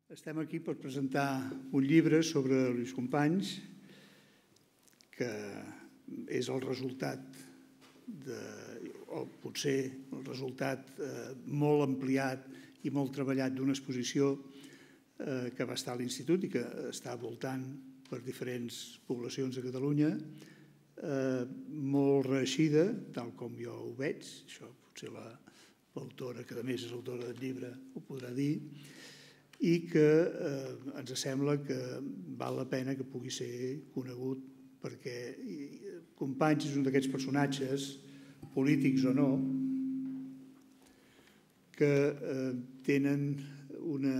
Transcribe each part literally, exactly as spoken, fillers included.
Estem aquí per presentar un llibre sobre Lluís Companys, que és el resultat, de, o potser el resultat eh, molt ampliat i molt treballat d'una exposició eh, que va estar a l'Institut i que està voltant per diferents poblacions de Catalunya, eh, molt reeixida, tal com jo ho veig, això potser l'autora, que a més és autora del llibre, ho podrà dir, i que eh, ens sembla que val la pena que pugui ser conegut perquè Companys és un d'aquests personatges, polítics o no, que eh, tenen una...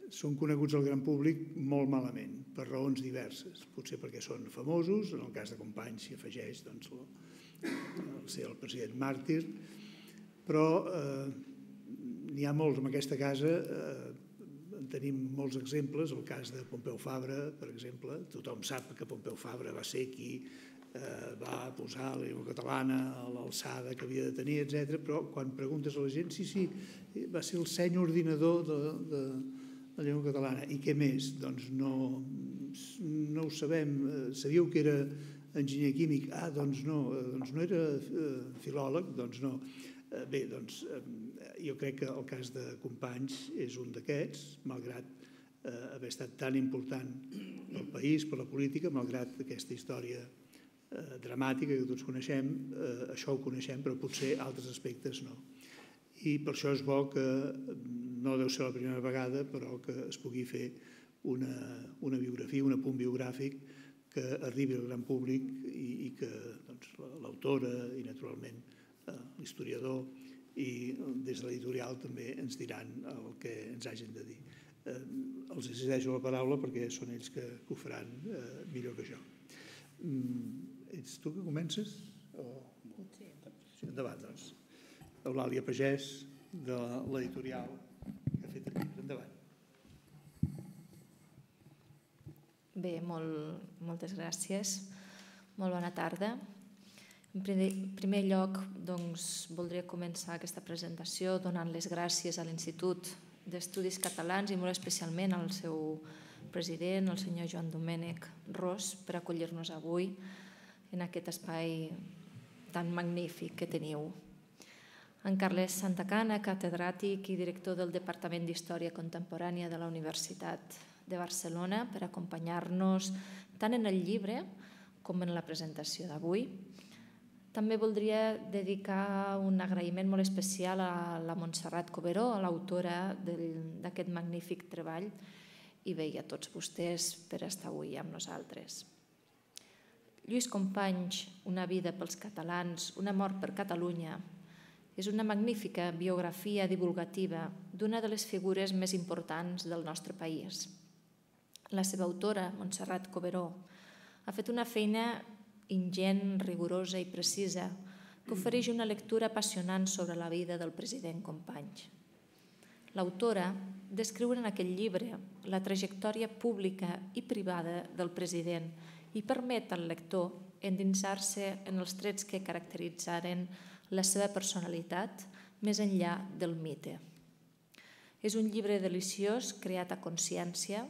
són coneguts al gran públic molt malament, per raons diverses. Potser perquè són famosos, en el cas de Companys s'hi afegeix doncs, el ser el president màrtir, però eh, n'hi ha molts en aquesta casa, eh, en tenim molts exemples, el cas de Pompeu Fabra, per exemple. Tothom sap que Pompeu Fabra va ser qui eh, va posar la llengua catalana a l'alçada que havia de tenir, etcètera. Però quan preguntes a la gent, sí, sí, va ser el seny ordinador de, de la llengua catalana. I què més? Doncs no, no ho sabem. Sabíeu que era enginyer químic? Ah, doncs no. Doncs no era filòleg? Doncs no. Bé, doncs jo crec que el cas de Companys és un d'aquests, malgrat haver estat tan important pel país, per la política, malgrat aquesta història dramàtica que tots coneixem, això ho coneixem, però potser altres aspectes no. I per això és bo que, no deu ser la primera vegada, però que es pugui fer una, una biografia, un apunt biogràfic que arribi al gran públic i, i que doncs, l'autora i, naturalment, l'historiador i des de l'editorial també ens diran el que ens hagin de dir. Els cedeixo la paraula perquè són ells que ho faran millor que jo. Ets tu que comences? Sí. Endavant, doncs. Eulàlia Pagès, de l'editorial que ha fet el llibre. Endavant. Bé, moltes gràcies. Molt bona tarda. En primer lloc, doncs, voldria començar aquesta presentació donant les gràcies a l'Institut d'Estudis Catalans i molt especialment al seu president, el senyor Joan Domènec Ros, per acollir-nos avui en aquest espai tan magnífic que teniu. En Carles Santacana, catedràtic i director del Departament d'Història Contemporània de la Universitat de Barcelona, per acompanyar-nos tant en el llibre com en la presentació d'avui. També voldria dedicar un agraïment molt especial a la Montserrat Coberó, a l'autora d'aquest magnífic treball, i bé, a tots vostès per estar avui amb nosaltres. Lluís Companys, una vida pels catalans, una mort per Catalunya, és una magnífica biografia divulgativa d'una de les figures més importants del nostre país. La seva autora, Montserrat Coberó, ha fet una feina ingent, rigorosa i precisa, que ofereix una lectura apassionant sobre la vida del president Companys. L'autora descriu en aquest llibre la trajectòria pública i privada del president i permet al lector endinsar-se en els trets que caracteritzaren la seva personalitat més enllà del mite. És un llibre deliciós, creat a consciència,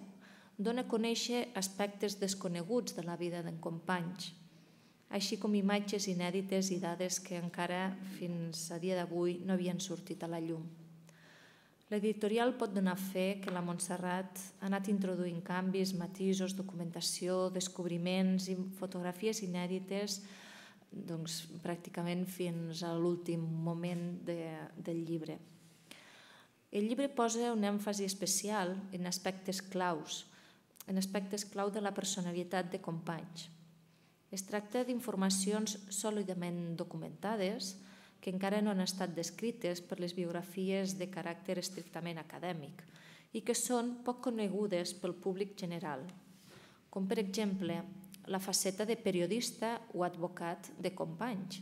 dona a conèixer aspectes desconeguts de la vida d'en Companys, així com imatges inèdites i dades que encara fins a dia d'avui no havien sortit a la llum. L'editorial pot donar fe que la Montserrat ha anat introduint canvis, matisos, documentació, descobriments i fotografies inèdites doncs, pràcticament fins a l'últim moment de, del llibre. El llibre posa un èmfasi especial en aspectes claus, en aspectes clau de la personalitat de Companys. Es tracta d'informacions sòlidament documentades que encara no han estat descrites per les biografies de caràcter estrictament acadèmic i que són poc conegudes pel públic general, com per exemple la faceta de periodista o advocat de Companys,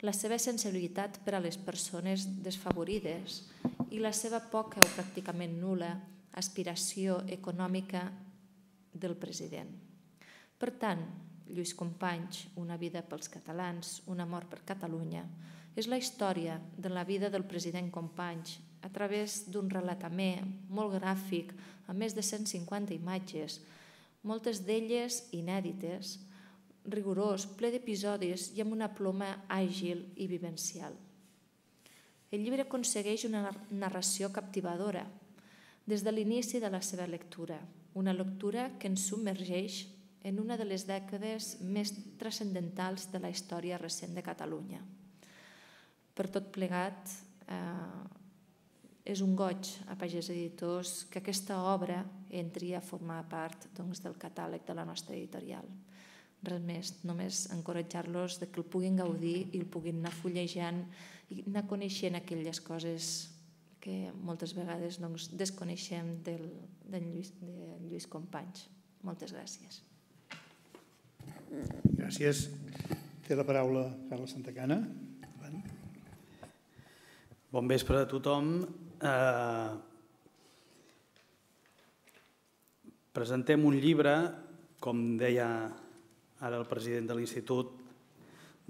la seva sensibilitat per a les persones desfavorides i la seva poca o pràcticament nul·la aspiració econòmica del president. Per tant, Lluís Companys, una vida pels catalans, una mort per Catalunya, és la història de la vida del president Companys a través d'un relatament molt gràfic, amb més de cent cinquanta imatges, moltes d'elles inèdites, rigorós, ple d'episodis i amb una ploma àgil i vivencial. El llibre aconsegueix una narració captivadora des de l'inici de la seva lectura, una lectura que ens submergeix en una de les dècades més transcendentals de la història recent de Catalunya. Per tot plegat, és un goig a Pagès Editors que aquesta obra entri a formar part del catàleg de la nostra editorial. Res més, només encoratjar-los que el puguin gaudir i el puguin anar fullejant i anar coneixent aquelles coses que moltes vegades desconeixem del Lluís Companys. Moltes gràcies. Gràcies. Té la paraula Carles Santacana. Bon vespre a tothom. Presentem un llibre, com deia ara el president de l'Institut,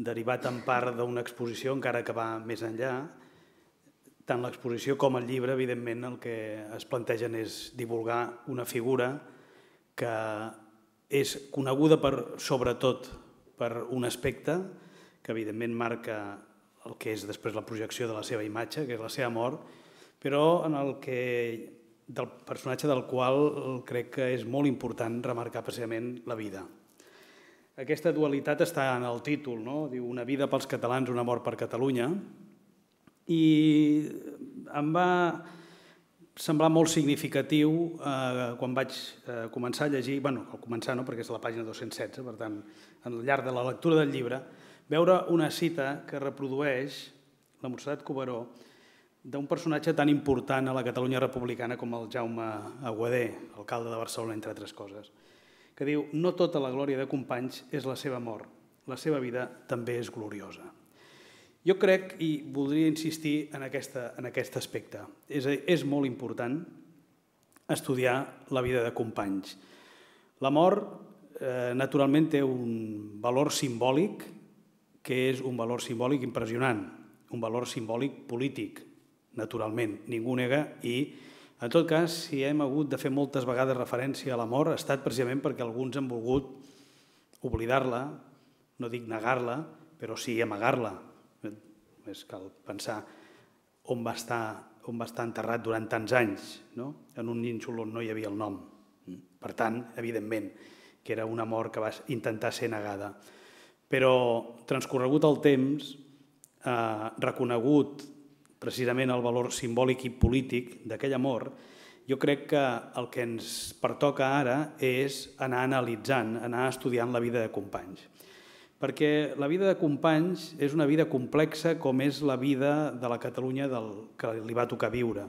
derivat en part d'una exposició, encara que va més enllà. Tant l'exposició com el llibre, evidentment, el que es plantegen és divulgar una figura que és coneguda sobretot per un aspecte que, evidentment, marca el que és després la projecció de la seva imatge, que és la seva mort, però en el que del personatge del qual crec que és molt important remarcar precisament la vida. Aquesta dualitat està en el títol, no? Diu una vida pels catalans, una mort per Catalunya, i em va semblar molt significatiu quan vaig començar a llegir, bé, al començar no, perquè és la pàgina dos-cents setze, per tant, al llarg de la lectura del llibre, veure una cita que reprodueix la Montserrat Cuberó d'un personatge tan important a la Catalunya republicana com el Jaume Aguadé, alcalde de Barcelona, entre altres coses, que diu: no tota la glòria de Companys és la seva mort, la seva vida també és gloriosa. Jo crec, i voldria insistir en aquest aspecte, és molt important estudiar la vida de Companys. La mort, naturalment, té un valor simbòlic, que és un valor simbòlic impressionant, un valor simbòlic polític, naturalment, ningú nega, i en tot cas, si hem hagut de fer moltes vegades referència a la mort, ha estat precisament perquè alguns han volgut oblidar-la, no dic negar-la, però sí amagar-la. Només cal pensar on va estar enterrat durant tants anys, en un nínxol on no hi havia el nom. Per tant, evidentment, que era una mort que va intentar ser negada. Però, transcorregut el temps, reconegut precisament el valor simbòlic i polític d'aquella mort, jo crec que el que ens pertoca ara és anar analitzant, anar estudiant la vida de Companys. Perquè la vida de Companys és una vida complexa com és la vida de la Catalunya que li va tocar viure,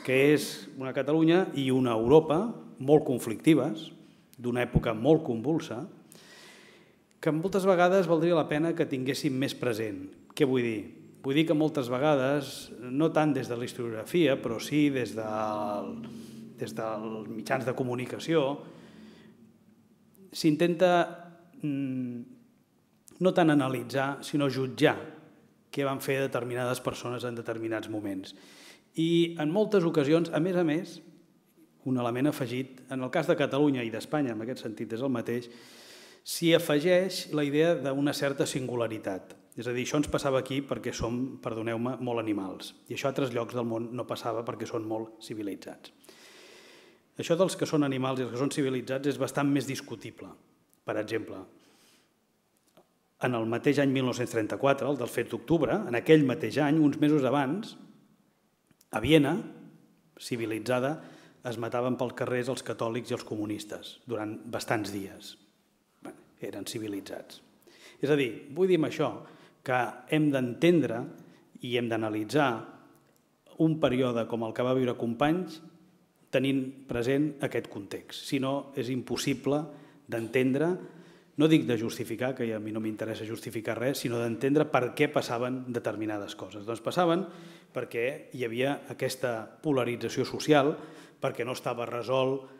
que és una Catalunya i una Europa molt conflictives, d'una època molt convulsa, que moltes vegades valdria la pena que tinguéssim més present. Què vull dir? Vull dir que moltes vegades, no tant des de la historiografia, però sí des dels mitjans de comunicació, s'intenta no tant analitzar, sinó jutjar què van fer determinades persones en determinats moments. I en moltes ocasions, a més a més, un element afegit, en el cas de Catalunya i d'Espanya, en aquest sentit és el mateix, s'hi afegeix la idea d'una certa singularitat. És a dir, això ens passava aquí perquè som, perdoneu-me, molt animals. I això a altres llocs del món no passava perquè són molt civilitzats. Això dels que són animals i els que són civilitzats és bastant més discutible. Per exemple, en el mateix any mil nou-cents trenta-quatre, el dels fets d'octubre, en aquell mateix any, uns mesos abans, a Viena, civilitzada, es mataven pels carrers els catòlics i els comunistes durant bastants dies. Eren civilitzats. És a dir, vull dir amb això que hem d'entendre i hem d'analitzar un període com el que va viure Companys tenint present aquest context. Si no, és impossible d'entendre, no dic de justificar, que a mi no m'interessa justificar res, sinó d'entendre per què passaven determinades coses. Doncs passaven perquè hi havia aquesta polarització social, perquè no estava resolt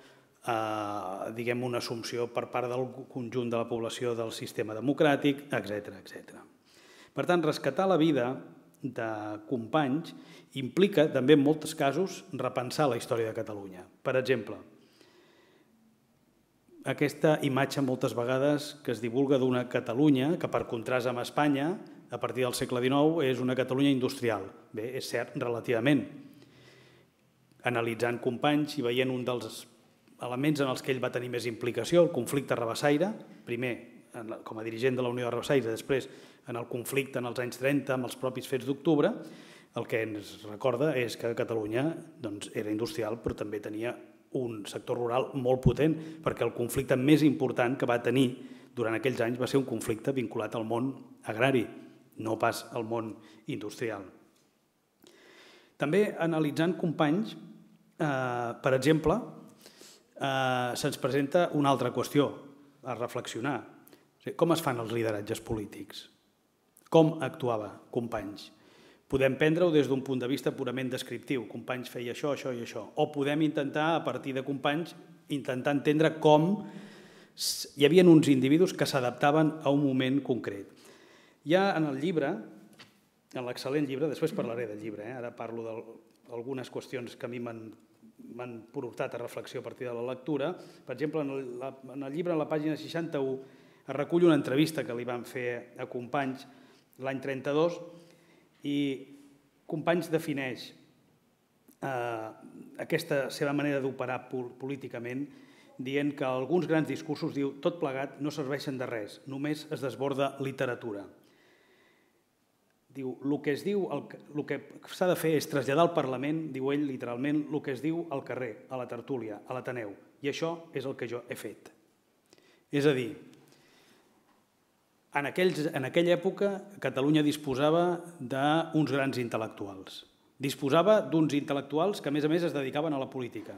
diguem una assumpció per part del conjunt de la població del sistema democràtic, etcètera, etcètera. Per tant, rescatar la vida de Companys implica també en molts casos repensar la història de Catalunya. Per exemple, aquesta imatge moltes vegades que es divulga d'una Catalunya que per contrast amb Espanya a partir del segle dinou és una Catalunya industrial. Bé, és cert, relativament. Analitzant Companys i veient un dels elements en els que ell va tenir més implicació, el conflicte rabassaire, primer com a dirigent de la Unió de Rabassaires, després en el conflicte en els anys trenta amb els propis fets d'octubre, el que ens recorda és que Catalunya era industrial però també tenia un sector rural molt potent perquè el conflicte més important que va tenir durant aquells anys va ser un conflicte vinculat al món agrari, no pas al món industrial. També analitzant Companys, per exemple, se'ns presenta una altra qüestió a reflexionar. Com es fan els lideratges polítics? Com actuava Companys? Podem prendre-ho des d'un punt de vista purament descriptiu. Companys feia això, això i això. O podem intentar, a partir de Companys, intentar entendre com hi havia uns individus que s'adaptaven a un moment concret. Ja en el llibre, en l'excel·lent llibre, després parlaré del llibre, ara parlo d'algunes qüestions que a mi m'han portat a reflexió a partir de la lectura. Per exemple, en el llibre, a la pàgina seixanta-u, es recull una entrevista que li van fer a Companys l'any trenta-dos i Companys defineix aquesta seva manera d'operar políticament dient que alguns grans discursos, diu, tot plegat no serveixen de res, només es desborda literatura. Diu, el que es diu, el que s'ha de fer és traslladar al Parlament, diu ell literalment, el que es diu al carrer, a la tertúlia, a l'Ateneu, i això és el que jo he fet. És a dir, En, aquells, en aquella època, Catalunya disposava d'uns grans intel·lectuals. Disposava d'uns intel·lectuals que, a més a més, es dedicaven a la política.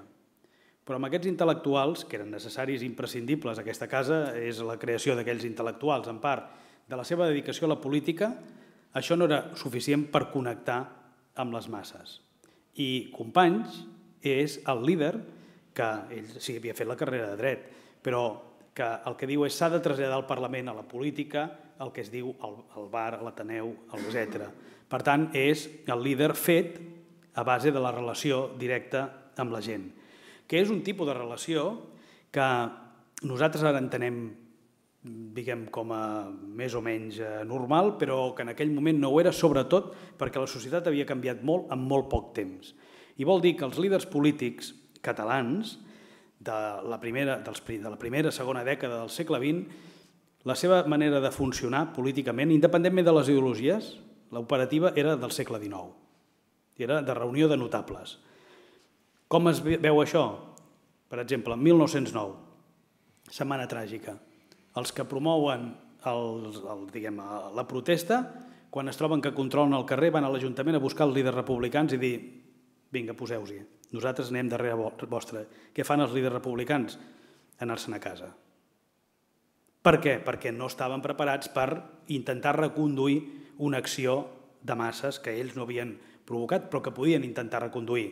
Però amb aquests intel·lectuals, que eren necessaris i imprescindibles, aquesta casa és la creació d'aquells intel·lectuals, en part de la seva dedicació a la política, això no era suficient per connectar amb les masses. I Companys és el líder que ell sí havia fet la carrera de dret, però que el que diu és s'ha de traslladar al Parlament, a la política, el que es diu al bar, a l'Ateneu, etcètera. Per tant, és el líder fet a base de la relació directa amb la gent, que és un tipus de relació que nosaltres ara entenem, diguem, com a més o menys normal, però que en aquell moment no ho era, sobretot perquè la societat havia canviat molt en molt poc temps. I vol dir que els líders polítics catalans de la primera, de la primera, segona dècada del segle vint, la seva manera de funcionar políticament, independentment de les ideologies, l'operativa era del segle dinou. Era de reunió de notables. Com es veu això? Per exemple, en mil nou-cents nou, Setmana Tràgica. Els que promouen el, el, diguem, la protesta, quan es troben que controlen el carrer, van a l'Ajuntament a buscar els líders republicans i dir vinga, poseu-s'hi. Nosaltres anem darrere vostre. Què fan els líders republicans? Anar-se'n a casa. Per què? Perquè no estaven preparats per intentar reconduir una acció de masses que ells no havien provocat, però que podien intentar reconduir.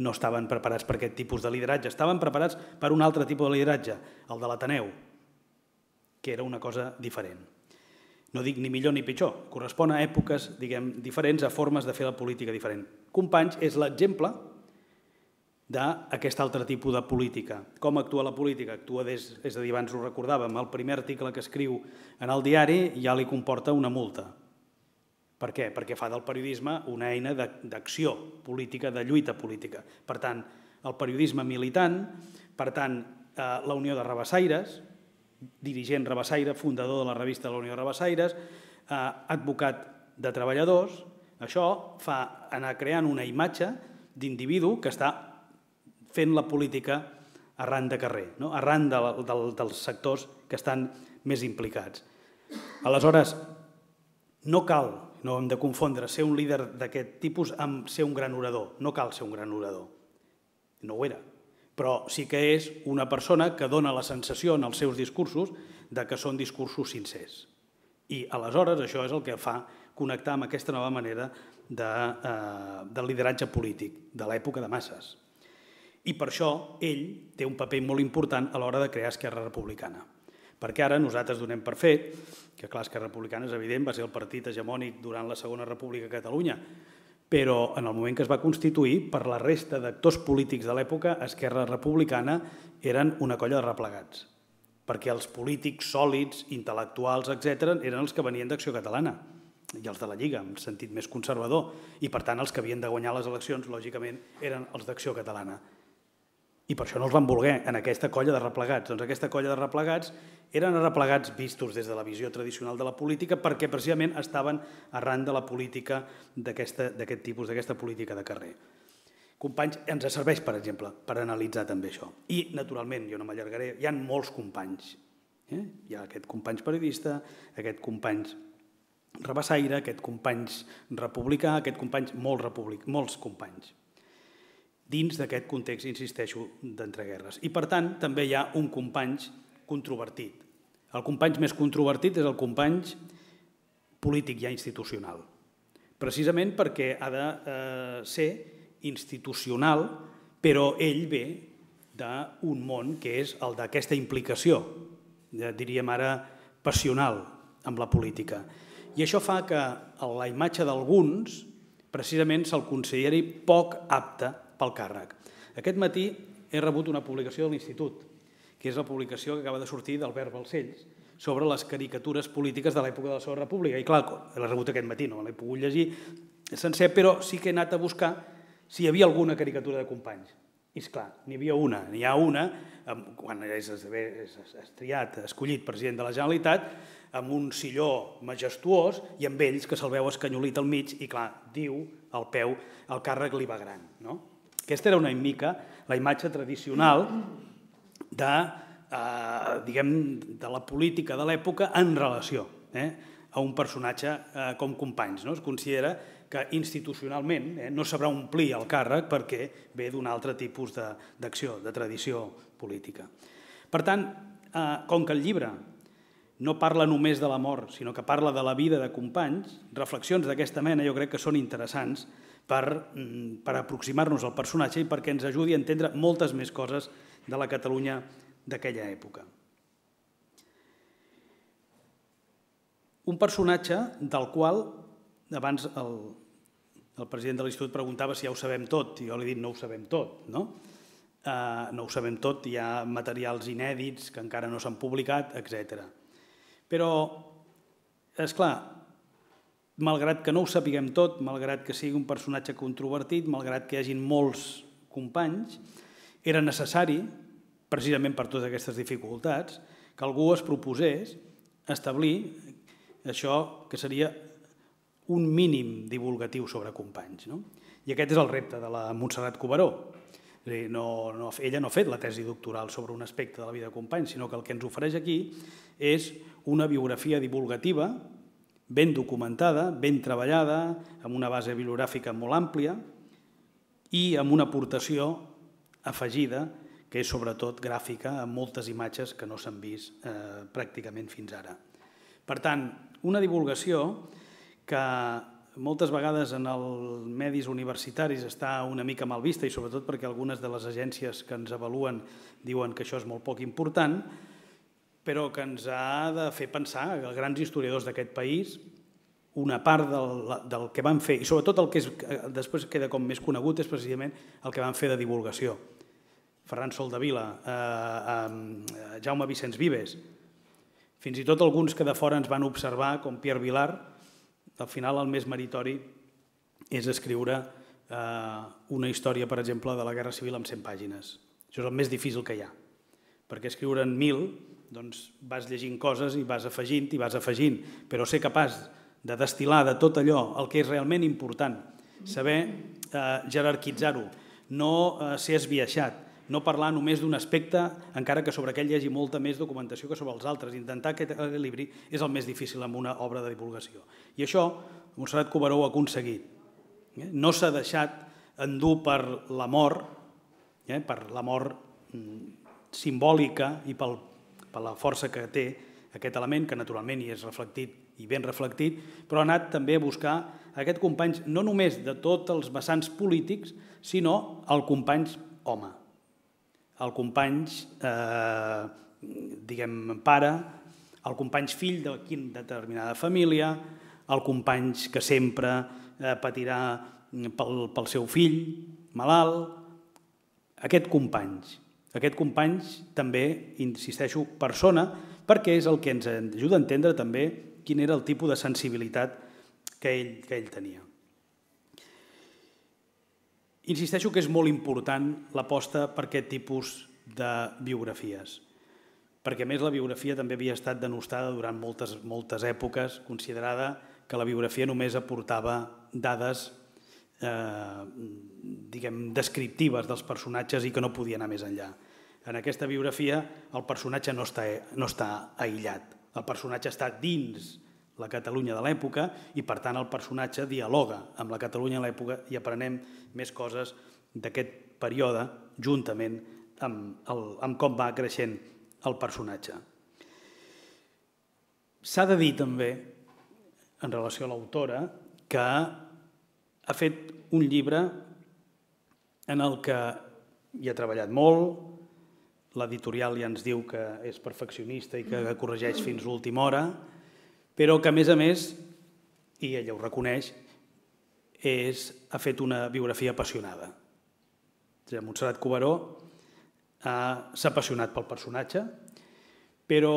No estaven preparats per aquest tipus de lideratge. Estaven preparats per un altre tipus de lideratge, el de l'Ateneu, que era una cosa diferent. No dic ni millor ni pitjor, correspon a èpoques, diguem, diferents, a formes de fer la política diferent. Companys és l'exemple d'aquest altre tipus de política. Com actua la política? Actua des, és a dir, abans ho recordàvem, el primer article que escriu en el diari ja li comporta una multa. Per què? Perquè fa del periodisme una eina d'acció política, de lluita política. Per tant, el periodisme militant, per tant, la Unió de Rabassaires, dirigent rabassaire, fundador de la revista de la Unió de Rabassaires, advocat de treballadors, això fa anar creant una imatge d'individu que està fent la política arran de carrer, no? Arran de, de, dels sectors que estan més implicats. Aleshores, no cal, no hem de confondre ser un líder d'aquest tipus amb ser un gran orador. No cal ser un gran orador. No ho era. Però sí que és una persona que dona la sensació en els seus discursos de que són discursos sincers. I aleshores això és el que fa connectar amb aquesta nova manera de, eh, del lideratge polític de l'època de masses. I per això ell té un paper molt important a l'hora de crear Esquerra Republicana. perquè ara nosaltres donem per fet que, clar, Esquerra Republicana és evident, va ser el partit hegemònic durant la Segona República a Catalunya, però en el moment que es va constituir, per la resta d'actors polítics de l'època, Esquerra Republicana eren una colla de replegats, perquè els polítics sòlids, intel·lectuals, etcètera, eren els que venien d'Acció Catalana i els de la Lliga, en sentit més conservador, i per tant els que havien de guanyar les eleccions, lògicament, eren els d'Acció Catalana. I per això no els van voler en aquesta colla de replegats. Doncs aquesta colla de replegats eren replegats vistos des de la visió tradicional de la política perquè precisament estaven arran de la política d'aquest tipus, d'aquesta política de carrer. Companys, ens serveix, per exemple, per analitzar també això. I, naturalment, jo no m'allargaré, hi ha molts companys. Hi ha aquest companys periodista, aquest companys rabassaire, aquest companys republicà, aquest companys molts companys dins d'aquest context, insisteixo, d'entreguerres. I, per tant, també hi ha un companys controvertit. El companys més controvertit és el companys polític ja institucional, precisament perquè ha de ser institucional, però ell ve d'un món que és el d'aquesta implicació, diríem ara, passional amb la política. I això fa que la imatge d'alguns precisament se'l consideri poc apte pel càrrec. Aquest matí he rebut una publicació de l'Institut, que és la publicació que acaba de sortir d'Albert Balcells, sobre les caricatures polítiques de l'època de la Segona República. I clar, l'he rebut aquest matí, no l'he pogut llegir sencer, però sí que he anat a buscar si hi havia alguna caricatura de companys. I esclar, n'hi havia una, n'hi ha una, quan és triat, escollit president de la Generalitat, amb un silló majestuós i amb ells que se'l veu escanyolit al mig i clar, diu al peu, el càrrec li va gran, no? Aquesta era una mica la imatge tradicional de, eh, diguem, de la política de l'època en relació eh, a un personatge eh, com Companys. No? Es considera que institucionalment eh, no sabrà omplir el càrrec perquè ve d'un altre tipus d'acció, de, de tradició política. Per tant, eh, com que el llibre no parla només de la mort, sinó que parla de la vida de Companys, reflexions d'aquesta mena jo crec que són interessants per, per aproximar-nos al personatge i perquè ens ajudi a entendre moltes més coses de la Catalunya d'aquella època. Un personatge del qual, abans el, el president de l'Institut preguntava si ja ho sabem tot, i jo li he dit no ho sabem tot, no? Uh, no ho sabem tot, hi ha materials inèdits que encara no s'han publicat, etcètera. Però, és clar, malgrat que no ho sapiguem tot, malgrat que sigui un personatge controvertit, malgrat que hi hagin molts companys, era necessari, precisament per totes aquestes dificultats, que algú es proposés establir això que seria un mínim divulgatiu sobre Companys. No? I aquest és el repte de la Montserrat Cuberó. No, no, ella no ha fet la tesi doctoral sobre un aspecte de la vida de Companys, sinó que el que ens ofereix aquí és una biografia divulgativa ben documentada, ben treballada, amb una base bibliogràfica molt àmplia i amb una aportació afegida, que és sobretot gràfica, amb moltes imatges que no s'han vist eh, pràcticament fins ara. Per tant, una divulgació que moltes vegades en els medis universitaris està una mica mal vista i sobretot perquè algunes de les agències que ens avaluen diuen que això és molt poc important, però que ens ha de fer pensar que els grans historiadors d'aquest país, una part del, del que van fer, i sobretot el que és, després queda com més conegut, és precisament el que van fer de divulgació. Ferran Soldevila, eh, eh, Jaume Vicenç Vives, fins i tot alguns que de fora ens van observar, com Pierre Vilar, al final el més meritori és escriure eh, una història, per exemple, de la Guerra Civil amb cent pàgines. Això és el més difícil que hi ha, perquè escriure en mil, doncs vas llegint coses i vas afegint i vas afegint, però ser capaç de destil·lar de tot allò el que és realment important, saber eh, jerarquitzar-ho, no eh, ser esbiaixat, no parlar només d'un aspecte, encara que sobre aquell hi hagi molta més documentació que sobre els altres. Intentar aquest equilibri és el més difícil en una obra de divulgació. I això Montserrat Cuberó ho ha aconseguit. No s'ha deixat endur per la mort, eh, per la mort simbòlica i pel, per la força que té aquest element, que naturalment hi és reflectit i ben reflectit, però ha anat també a buscar aquest Companys no només de tots els vessants polítics, sinó el Companys home, el Companys eh, diguem, pare, el company fill de quina determinada família, el company que sempre patirà pel seu fill malalt, aquest company. Aquest company també, insisteixo, persona, perquè és el que ens ajuda a entendre també quin era el tipus de sensibilitat que ell, que ell tenia. Insisteixo que és molt important l'aposta per aquest tipus de biografies, perquè a més la biografia també havia estat denostada durant moltes, moltes èpoques, considerada que la biografia només aportava dades eh, diguem, descriptives dels personatges i que no podia anar més enllà. En aquesta biografia el personatge no està, no està aïllat, el personatge està dins la Catalunya de l'època i per tant el personatge dialoga amb la Catalunya de l'època i aprenem més coses d'aquest període juntament amb, el, amb com va creixent el personatge. S'ha de dir també, en relació a l'autora, que ha fet un llibre en el que hi ha treballat molt, l'editorial ja ens diu que és perfeccionista i que corregeix fins l'última hora, però que a més a més, i ella ho reconeix, és, ha fet una biografia apassionada. Montserrat Cuberó s'ha apassionat pel personatge, però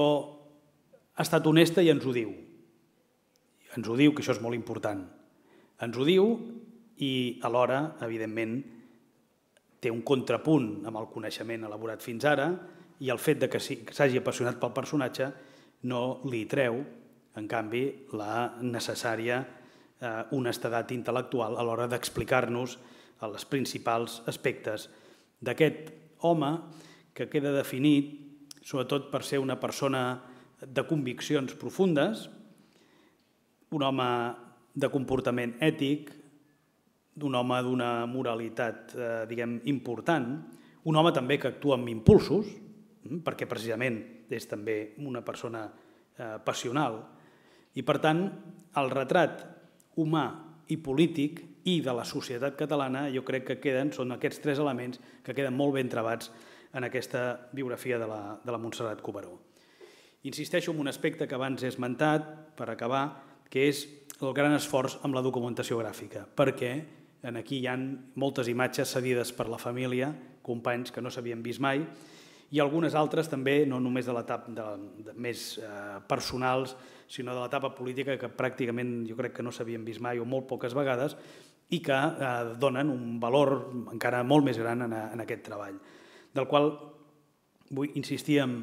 ha estat honesta i ens ho diu. Ens ho diu, que això és molt important. Ens ho diu i alhora, evidentment, té un contrapunt amb el coneixement elaborat fins ara i el fet de que s'hagi apassionat pel personatge no li treu, en canvi, la necessària honestedat intel·lectual a l'hora d'explicar-nos els principals aspectes d'aquest home que queda definit sobretot per ser una persona de conviccions profundes, un home de comportament ètic, d'un home d'una moralitat, diguem, important, un home també que actua amb impulsos, perquè precisament és també una persona passional, i per tant el retrat humà i polític i de la societat catalana jo crec que queden, són aquests tres elements que queden molt ben trebats en aquesta biografia de la, de la Montserrat Cuberó. Insisteixo en un aspecte que abans he esmentat, per acabar, que és el gran esforç amb la documentació gràfica, perquè aquí hi ha moltes imatges cedides per la família, companys que no s'havien vist mai, i algunes altres també, no només de l'etapa més personals, sinó de l'etapa política que pràcticament jo crec que no s'havien vist mai o molt poques vegades i que donen un valor encara molt més gran en aquest treball, del qual vull insistir en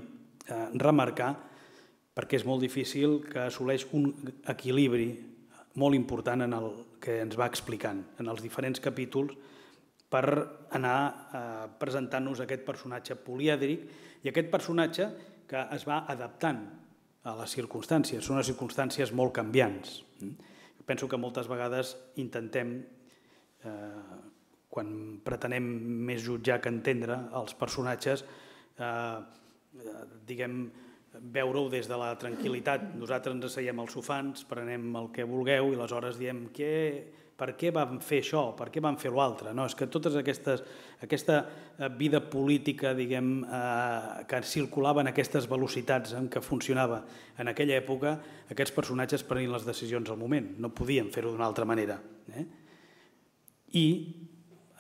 remarcar perquè és molt difícil que assoleix un equilibri molt important en el que ens va explicant en els diferents capítols per anar presentant-nos aquest personatge polièdric i aquest personatge que es va adaptant a les circumstàncies. Són unes circumstàncies molt canviants. Penso que moltes vegades intentem, quan pretenem més jutjar que entendre els personatges, diguem, veure-ho des de la tranquil·litat. Nosaltres ens asseiem als sofans, prenem el que vulgueu i aleshores diem per què vam fer això, per què vam fer l'altre. És que tota aquesta vida política que circulava en aquestes velocitats en què funcionava en aquella època, aquests personatges prenien les decisions al moment, no podien fer-ho d'una altra manera. I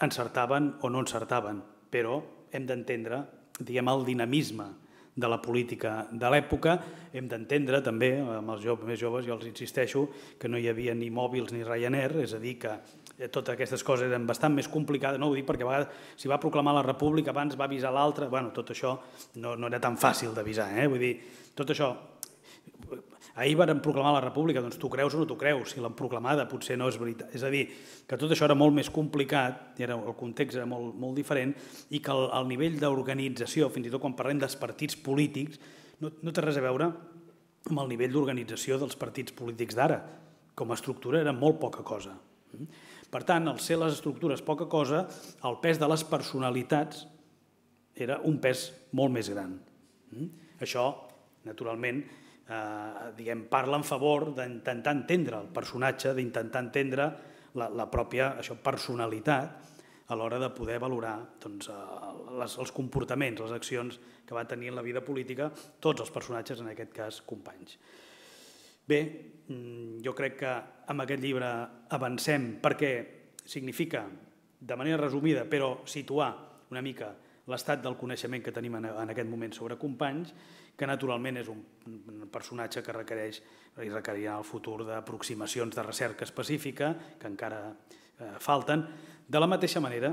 encertaven o no encertaven, però hem d'entendre el dinamisme de la política de l'època, hem d'entendre també, amb els més joves, jo els insisteixo, que no hi havia ni mòbils ni Ryanair, és a dir, que totes aquestes coses eren bastant més complicades, no ho dic perquè a vegades si va proclamar la República abans va avisar l'altre, bueno, tot això no era tan fàcil d'avisar, vull dir, tot això, ahir van proclamar la República, doncs tu creus o no tu creus, si l'han proclamada potser no és veritat, és a dir, que tot això era molt més complicat, el context era molt diferent i que el nivell d'organització, fins i tot quan parlem dels partits polítics, no té res a veure amb el nivell d'organització dels partits polítics d'ara. Com a estructura era molt poca cosa. Per tant, al ser les estructures poca cosa, el pes de les personalitats era un pes molt més gran. Això, naturalment, parla en favor d'intentar entendre el personatge, d'intentar entendre la pròpia personalitat, a l'hora de poder valorar doncs, les, els comportaments, les accions que va tenir en la vida política tots els personatges, en aquest cas companys. Bé, jo crec que amb aquest llibre avancem perquè significa, de manera resumida, però situar una mica l'estat del coneixement que tenim en aquest moment sobre companys, que naturalment és un personatge que requereix i requerirà en el futur d'aproximacions de recerca específica, que encara falten, de la mateixa manera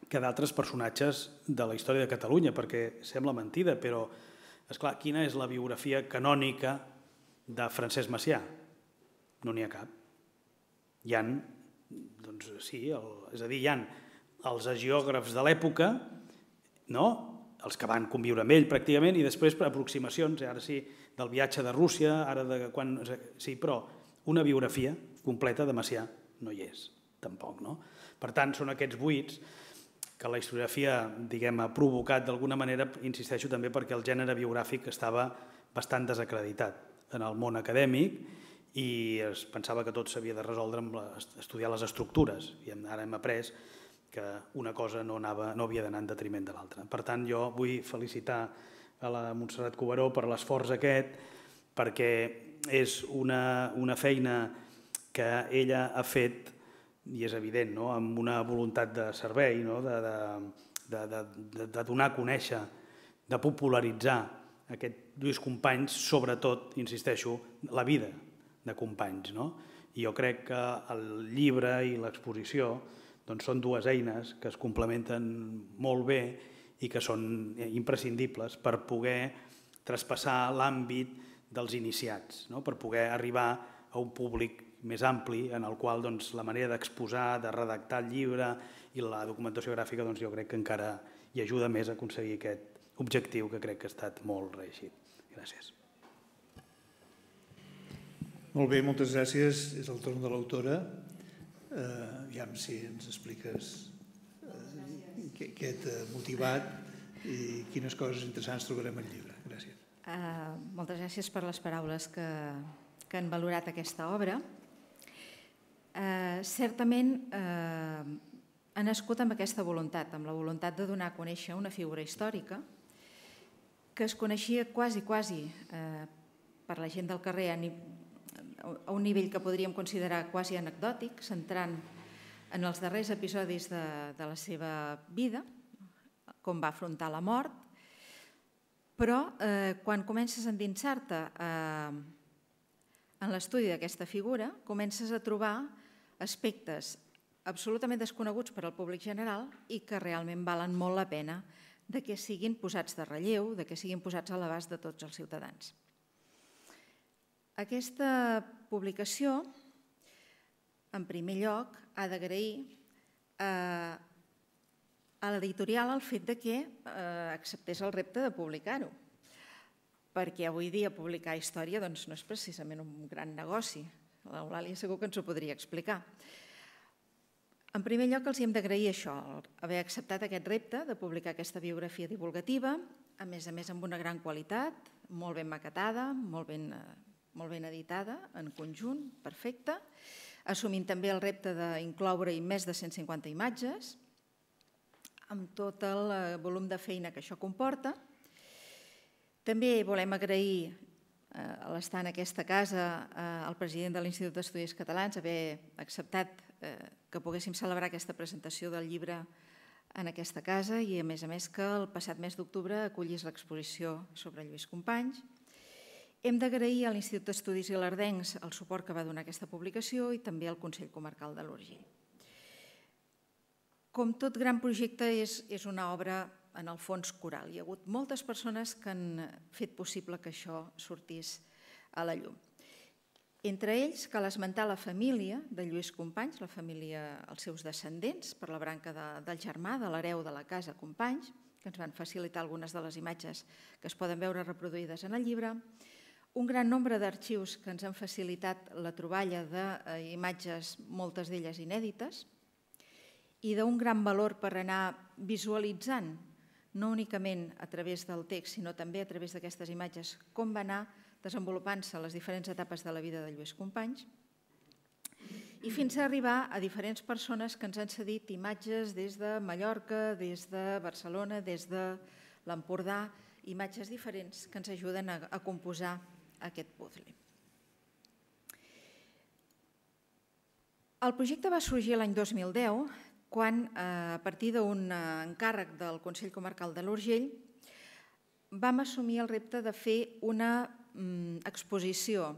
que d'altres personatges de la història de Catalunya, perquè sembla mentida, però, esclar, quina és la biografia canònica de Francesc Macià? No n'hi ha cap. Hi ha, doncs sí, el, és a dir, hi ha els hagiògrafs de l'època, no?, els que van conviure amb ell pràcticament, i després per aproximacions, ara sí, del viatge de Rússia, ara de quan... Sí, però una biografia completa de Macià no hi és, tampoc, no? Per tant, són aquests buits que la historiografia, diguem, ha provocat d'alguna manera, insisteixo també perquè el gènere biogràfic estava bastant desacreditat en el món acadèmic i es pensava que tot s'havia de resoldre amb estudiar les estructures, i ara hem après que una cosa no, anava, no havia d'anar en detriment de l'altra. Per tant, jo vull felicitar a la Montserrat Cuberó per l'esforç aquest, perquè és una, una feina que ella ha fet, i és evident, no?, amb una voluntat de servei, no?, de, de, de, de, de donar a conèixer, de popularitzar aquest Lluís Companys, sobretot, insisteixo, la vida de Companys, no? I jo crec que el llibre i l'exposició doncs són dues eines que es complementen molt bé i que són imprescindibles per poder traspassar l'àmbit dels iniciats, no?, per poder arribar a un públic més ampli en el qual doncs, la manera d'exposar, de redactar el llibre i la documentació gràfica doncs, jo crec que encara hi ajuda més a aconseguir aquest objectiu que crec que ha estat molt reeixit. Gràcies. Molt bé, moltes gràcies. És el torn de l'autora. Uh, aviam si ens expliques uh, què, què t'ha motivat i quines coses interessants trobarem al llibre. Gràcies. Uh, moltes gràcies per les paraules que, que han valorat aquesta obra. Uh, certament uh, ha nascut amb aquesta voluntat, amb la voluntat de donar a conèixer una figura històrica que es coneixia quasi, quasi uh, per la gent del carrer a a un nivell que podríem considerar quasi anecdòtic, centrant en els darrers episodis de, de la seva vida, com va afrontar la mort, però eh, quan comences a endinsar-te eh, en l'estudi d'aquesta figura, comences a trobar aspectes absolutament desconeguts per al públic general i que realment valen molt la pena de que siguin posats de relleu, de que siguin posats a l'abast de tots els ciutadans. Aquesta publicació, en primer lloc, ha d'agrair a l'editorial el fet que acceptés el repte de publicar-ho, perquè avui dia publicar història no és precisament un gran negoci. L'Eulàlia segur que ens ho podria explicar. En primer lloc, els hem d'agrair això, haver acceptat aquest repte de publicar aquesta biografia divulgativa, a més a més amb una gran qualitat, molt ben maquetada, molt ben molt ben editada, en conjunt, perfecta, assumint també el repte d'incloure-hi més de cent cinquanta imatges, amb tot el volum de feina que això comporta. També volem agrair, a l'estar en aquesta casa, al president de l'Institut d'Estudis Catalans haver acceptat que poguéssim celebrar aquesta presentació del llibre en aquesta casa i, a més a més, que el passat mes d'octubre acollís l'exposició sobre Lluís Companys. Hem d'agrair a l'Institut d'Estudis Ilerdencs el suport que va donar aquesta publicació i també al Consell Comarcal de l'Urgell. Com tot gran projecte, és una obra en el fons coral. Hi ha hagut moltes persones que han fet possible que això sortís a la llum. Entre ells, cal esmentar la família de Lluís Companys, la família, els seus descendents, per la branca del germà, de l'hereu de la casa Companys, que ens van facilitar algunes de les imatges que es poden veure reproduïdes en el llibre, un gran nombre d'arxius que ens han facilitat la troballa d'imatges, moltes d'elles inèdites, i d'un gran valor per anar visualitzant, no únicament a través del text, sinó també a través d'aquestes imatges, com va anar desenvolupant-se les diferents etapes de la vida de Lluís Companys. i fins a arribar a diferents persones que ens han cedit imatges des de Mallorca, des de Barcelona, des de l'Empordà, imatges diferents que ens ajuden a, a composar aquest puzzle. El projecte va sorgir l'any dos mil deu, quan, a partir d'un encàrrec del Consell Comarcal de l'Urgell, vam assumir el repte de fer una mm, exposició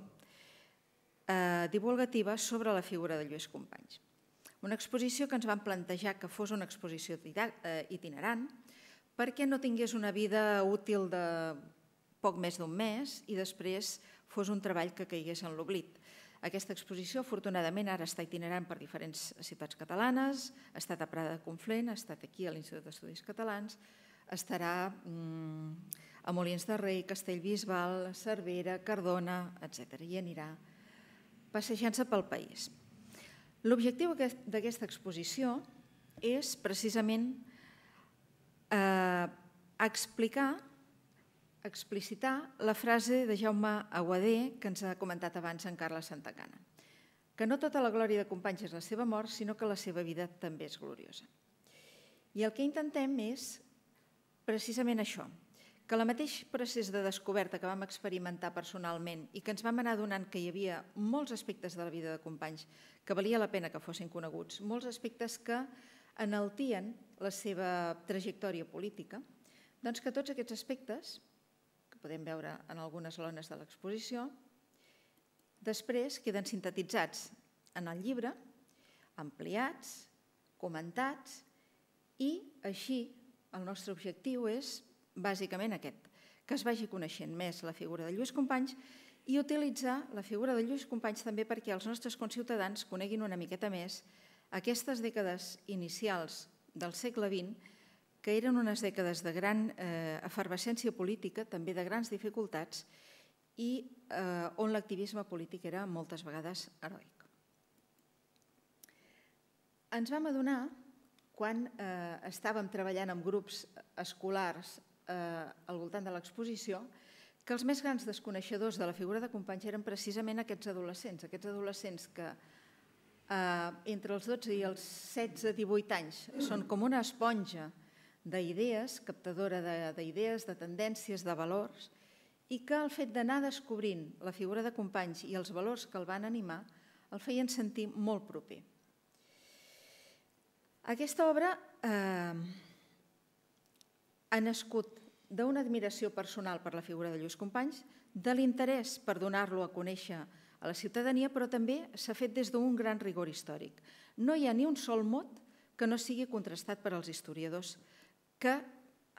eh, divulgativa sobre la figura de Lluís Companys. Una exposició que ens vam plantejar que fos una exposició itinerant, perquè no tingués una vida útil de poc més d'un mes i després fos un treball que caigués en l'oblit. Aquesta exposició, afortunadament, ara està itinerant per diferents ciutats catalanes, ha estat a Prada de Conflent, ha estat aquí a l'Institut d'Estudis Catalans, estarà a Molins de Rei, Castellbisbal, Cervera, Cardona, etcètera. I anirà passejant-se pel país. L'objectiu d'aquesta exposició és precisament explicar, explicitar la frase de Jaume Aguadé que ens ha comentat abans en Carles Santacana, que no tota la glòria de Companys és la seva mort, sinó que la seva vida també és gloriosa. I el que intentem és precisament això, que el mateix procés de descoberta que vam experimentar personalment i que ens vam anar adonant que hi havia molts aspectes de la vida de Companys que valia la pena que fossin coneguts, molts aspectes que enaltien la seva trajectòria política, doncs que tots aquests aspectes, que podem veure en algunes lones de l'exposició, després queden sintetitzats en el llibre, ampliats, comentats, i així el nostre objectiu és bàsicament aquest, que es vagi coneixent més la figura de Lluís Companys i utilitzar la figura de Lluís Companys també perquè els nostres conciutadans coneguin una miqueta més aquestes dècades inicials del segle vint, que eren unes dècades de gran efervescència política, també de grans dificultats, i on l'activisme polític era moltes vegades heroic. Ens vam adonar, quan estàvem treballant amb grups escolars al voltant de l'exposició, que els més grans desconeixedors de la figura de Companys eren precisament aquests adolescents, aquests adolescents que entre els dotze i els setze a divuit anys són com una esponja d'idees, captadora d'idees, de tendències, de valors, i que el fet d'anar descobrint la figura de Companys i els valors que el van animar el feien sentir molt proper. Aquesta obra ha nascut d'una admiració personal per la figura de Lluís Companys, de l'interès per donar-lo a conèixer a la ciutadania, però també s'ha fet des d'un gran rigor històric. No hi ha ni un sol mot que no sigui contrastat per als historiadors que,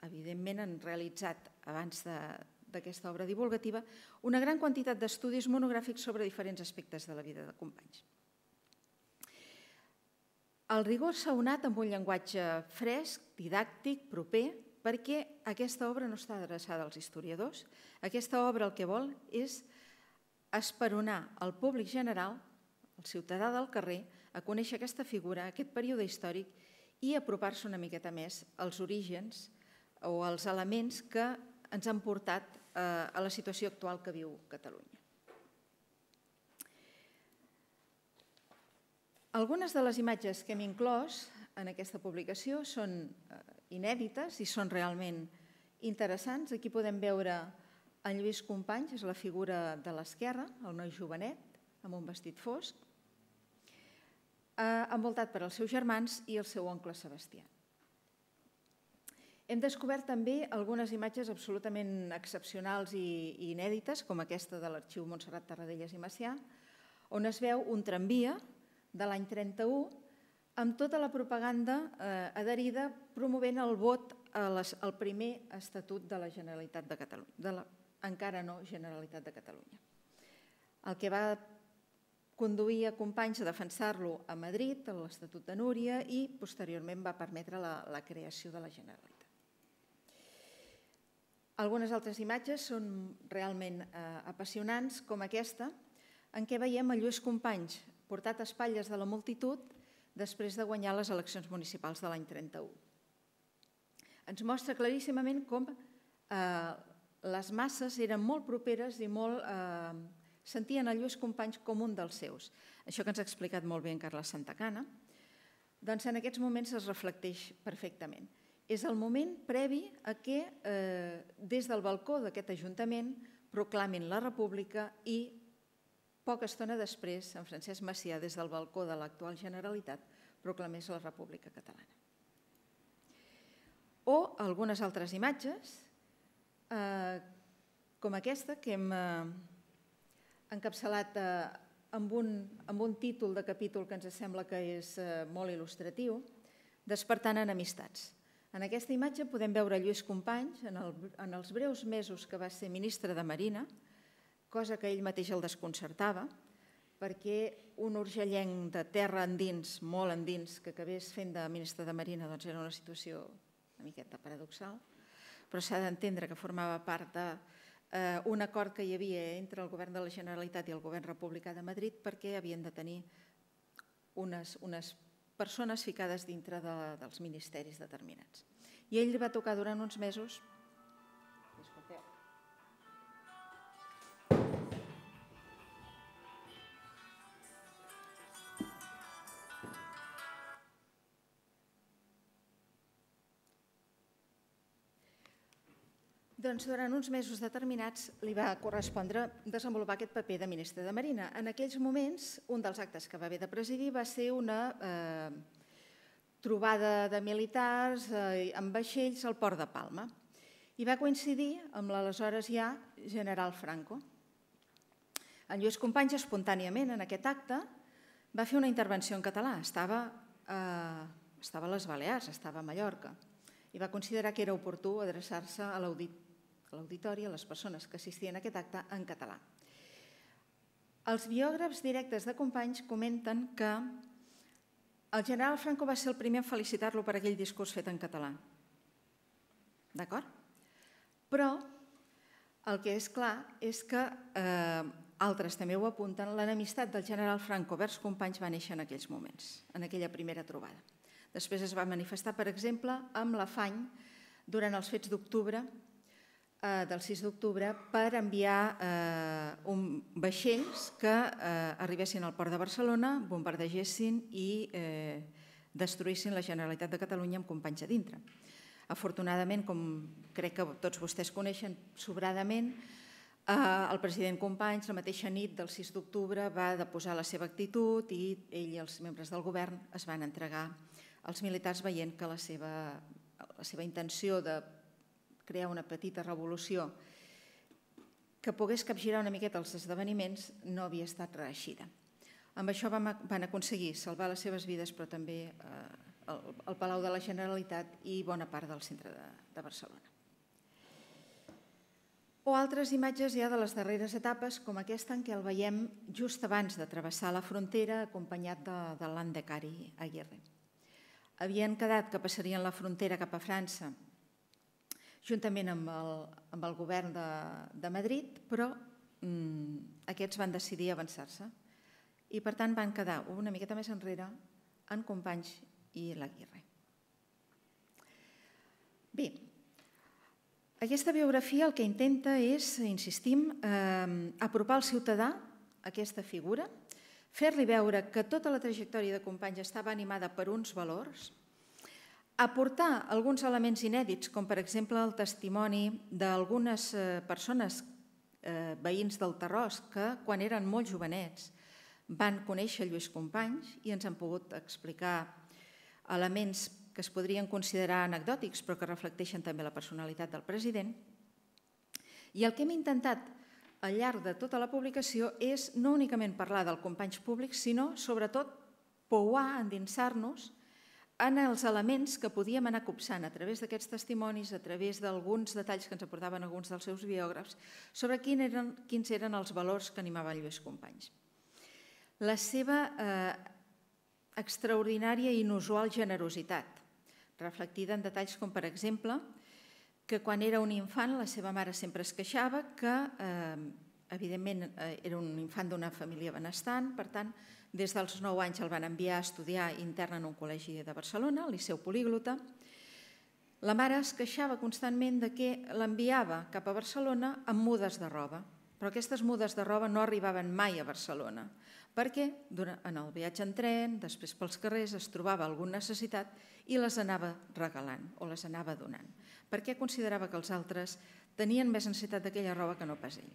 evidentment, han realitzat, abans d'aquesta obra divulgativa, una gran quantitat d'estudis monogràfics sobre diferents aspectes de la vida de Companys. El rigor s'ha unat amb un llenguatge fresc, didàctic, proper, perquè aquesta obra no està adreçada als historiadors. Aquesta obra el que vol és esperonar el públic general, el ciutadà del carrer, a conèixer aquesta figura, aquest període històric i apropar-se una miqueta més als orígens o als elements que ens han portat a la situació actual que viu Catalunya. Algunes de les imatges que hem inclòs en aquesta publicació són inèdites i són realment interessants. Aquí podem veure en Lluís Companys, és la figura de l'esquerra, el noi jovenet, amb un vestit fosc, envoltat per els seus germans i el seu oncle Sebastià. Hem descobert també algunes imatges absolutament excepcionals i inèdites, com aquesta de l'Arxiu Montserrat Tarradellas i Macià, on es veu un tramvia de l'any trenta-u amb tota la propaganda adherida promovent el vot al primer Estatut de la Generalitat de Catalunya, de la encara no Generalitat de Catalunya. El que va conduir a Companys a defensar-lo a Madrid, a l'Estatut de Núria, i posteriorment va permetre la creació de la Generalitat. Algunes altres imatges són realment apassionants, com aquesta, en què veiem a Lluís Companys portat a espatlles de la multitud després de guanyar les eleccions municipals de l'any trenta-u. Ens mostra claríssimament com les masses eren molt properes i molt sentien el Lluís Companys com un dels seus. Això que ens ha explicat molt bé en Carles Santacana, doncs en aquests moments es reflecteix perfectament. És el moment previ a que des del balcó d'aquest Ajuntament proclamin la República i poca estona després en Francesc Macià des del balcó de l'actual Generalitat proclamés la República Catalana. O algunes altres imatges com aquesta que hem encapçalat amb un títol de capítol que ens sembla que és molt il·lustratiu, Despertant enemistats. En aquesta imatge podem veure Lluís Companys en els breus mesos que va ser ministre de Marina, cosa que ell mateix el desconcertava, perquè un urgellenc de terra endins, molt endins, que acabés fent de ministre de Marina era una situació una miqueta paradoxal, però s'ha d'entendre que formava part d'un acord que hi havia entre el govern de la Generalitat i el govern republicà de Madrid perquè havien de tenir unes persones ficades dintre dels ministeris determinats. I ell va tocar durant uns mesos... Disculpeu. Doncs durant uns mesos determinats li va correspondre desenvolupar aquest paper de ministre de Marina. En aquells moments, un dels actes que va haver de presidir va ser una trobada de militars amb vaixells al port de Palma i va coincidir amb l'aleshores ja general Franco. En Lluís Companys, espontàniament, en aquest acte, va fer una intervenció en català. Estava a les Balears, estava a Mallorca, i va considerar que era oportú adreçar-se a l'auditori, a les persones que assistien a aquest acte, en català. Els biògrafs directes de Companys comenten que el general Franco va ser el primer a felicitar-lo per aquell discurs fet en català. D'acord? Però el que és clar és que altres també ho apunten, l'enemistat del general Franco vers Companys va néixer en aquells moments, en aquella primera trobada. Després es va manifestar, per exemple, amb l'afany durant els fets d'octubre, del sis d'octubre, per enviar vaixells que arribessin al port de Barcelona, bombardegessin i destruïssin la Generalitat de Catalunya amb Companys a dintre. Afortunadament, com crec que tots vostès coneixen sobradament, el president Companys, la mateixa nit del sis d'octubre, va deposar la seva actitud i ell i els membres del govern es van entregar als militars veient que la seva intenció de crear una petita revolució que pogués capgirar una miqueta els esdeveniments no havia estat reeixida. Amb això van aconseguir salvar les seves vides, però també el Palau de la Generalitat i bona part del centre de Barcelona. O altres imatges ja de les darreres etapes, com aquesta en què el veiem just abans de travessar la frontera acompanyat de l'Andecari Aguirre. Havien quedat que passarien la frontera cap a França juntament amb el govern de Madrid, però aquests van decidir avançar-se i per tant van quedar una miqueta més enrere en Companys i l'Aguirre. Bé, aquesta biografia el que intenta és, insistim, apropar al ciutadà aquesta figura, fer-li veure que tota la trajectòria de Companys estava animada per uns valors, aportar alguns elements inèdits, com per exemple el testimoni d'algunes persones veïns del Tarròs que quan eren molt jovenets van conèixer Lluís Companys i ens han pogut explicar elements que es podrien considerar anecdòtics però que reflecteixen també la personalitat del president. I el que hem intentat al llarg de tota la publicació és no únicament parlar del Companys públic, sinó sobretot pouar, endinsar-nos en els elements que podíem anar copsant a través d'aquests testimonis, a través d'alguns detalls que ens aportaven alguns dels seus biògrafs, sobre quins eren els valors que animava Lluís Companys. La seva extraordinària i inusual generositat, reflectida en detalls com, per exemple, que quan era un infant la seva mare sempre es queixava que, evidentment, era un infant d'una família benestant, per tant, des dels nou anys el van enviar a estudiar intern en un col·legi de Barcelona, al Liceu Políglota. La mare es queixava constantment de que l'enviava cap a Barcelona amb mudes de roba però aquestes mudes de roba no arribaven mai a Barcelona, perquè en el viatge en tren, després pels carrers, es trobava alguna necessitat i les anava regalant o les anava donant, perquè considerava que els altres tenien més necessitat d'aquella roba que no pas ell.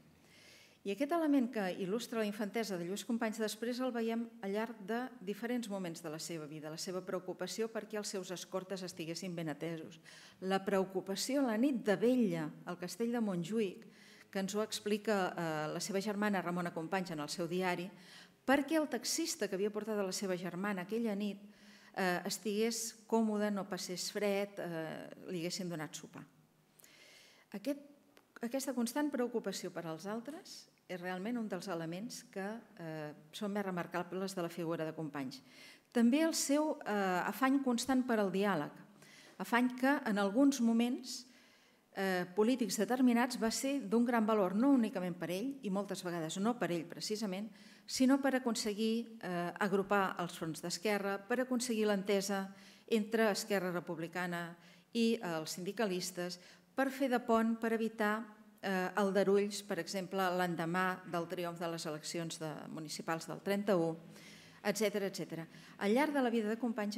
I aquest element que il·lustra la infantesa de Lluís Companys després el veiem al llarg de diferents moments de la seva vida, la seva preocupació perquè els seus escortes estiguessin ben atesos, la preocupació la nit de vetlla al castell de Montjuïc, que ens ho explica la seva germana Ramona Companys en el seu diari, perquè el taxista que havia portat a la seva germana aquella nit estigués còmode, no passés fred, li haguessin donat sopar. Aquesta constant preocupació per als altres és realment un dels elements que són més remarcables de la figura de Companys. També el seu afany constant per al diàleg, afany que en alguns moments polítics determinats va ser d'un gran valor, no únicament per ell, i moltes vegades no per ell precisament, sinó per aconseguir agrupar els fronts d'esquerra, per aconseguir l'entesa entre Esquerra Republicana i els sindicalistes, per fer de pont, per evitar aldarulls, per exemple, l'endemà del triomf de les eleccions municipals del trenta-u, etcètera, etcètera. Al llarg de la vida de Companys,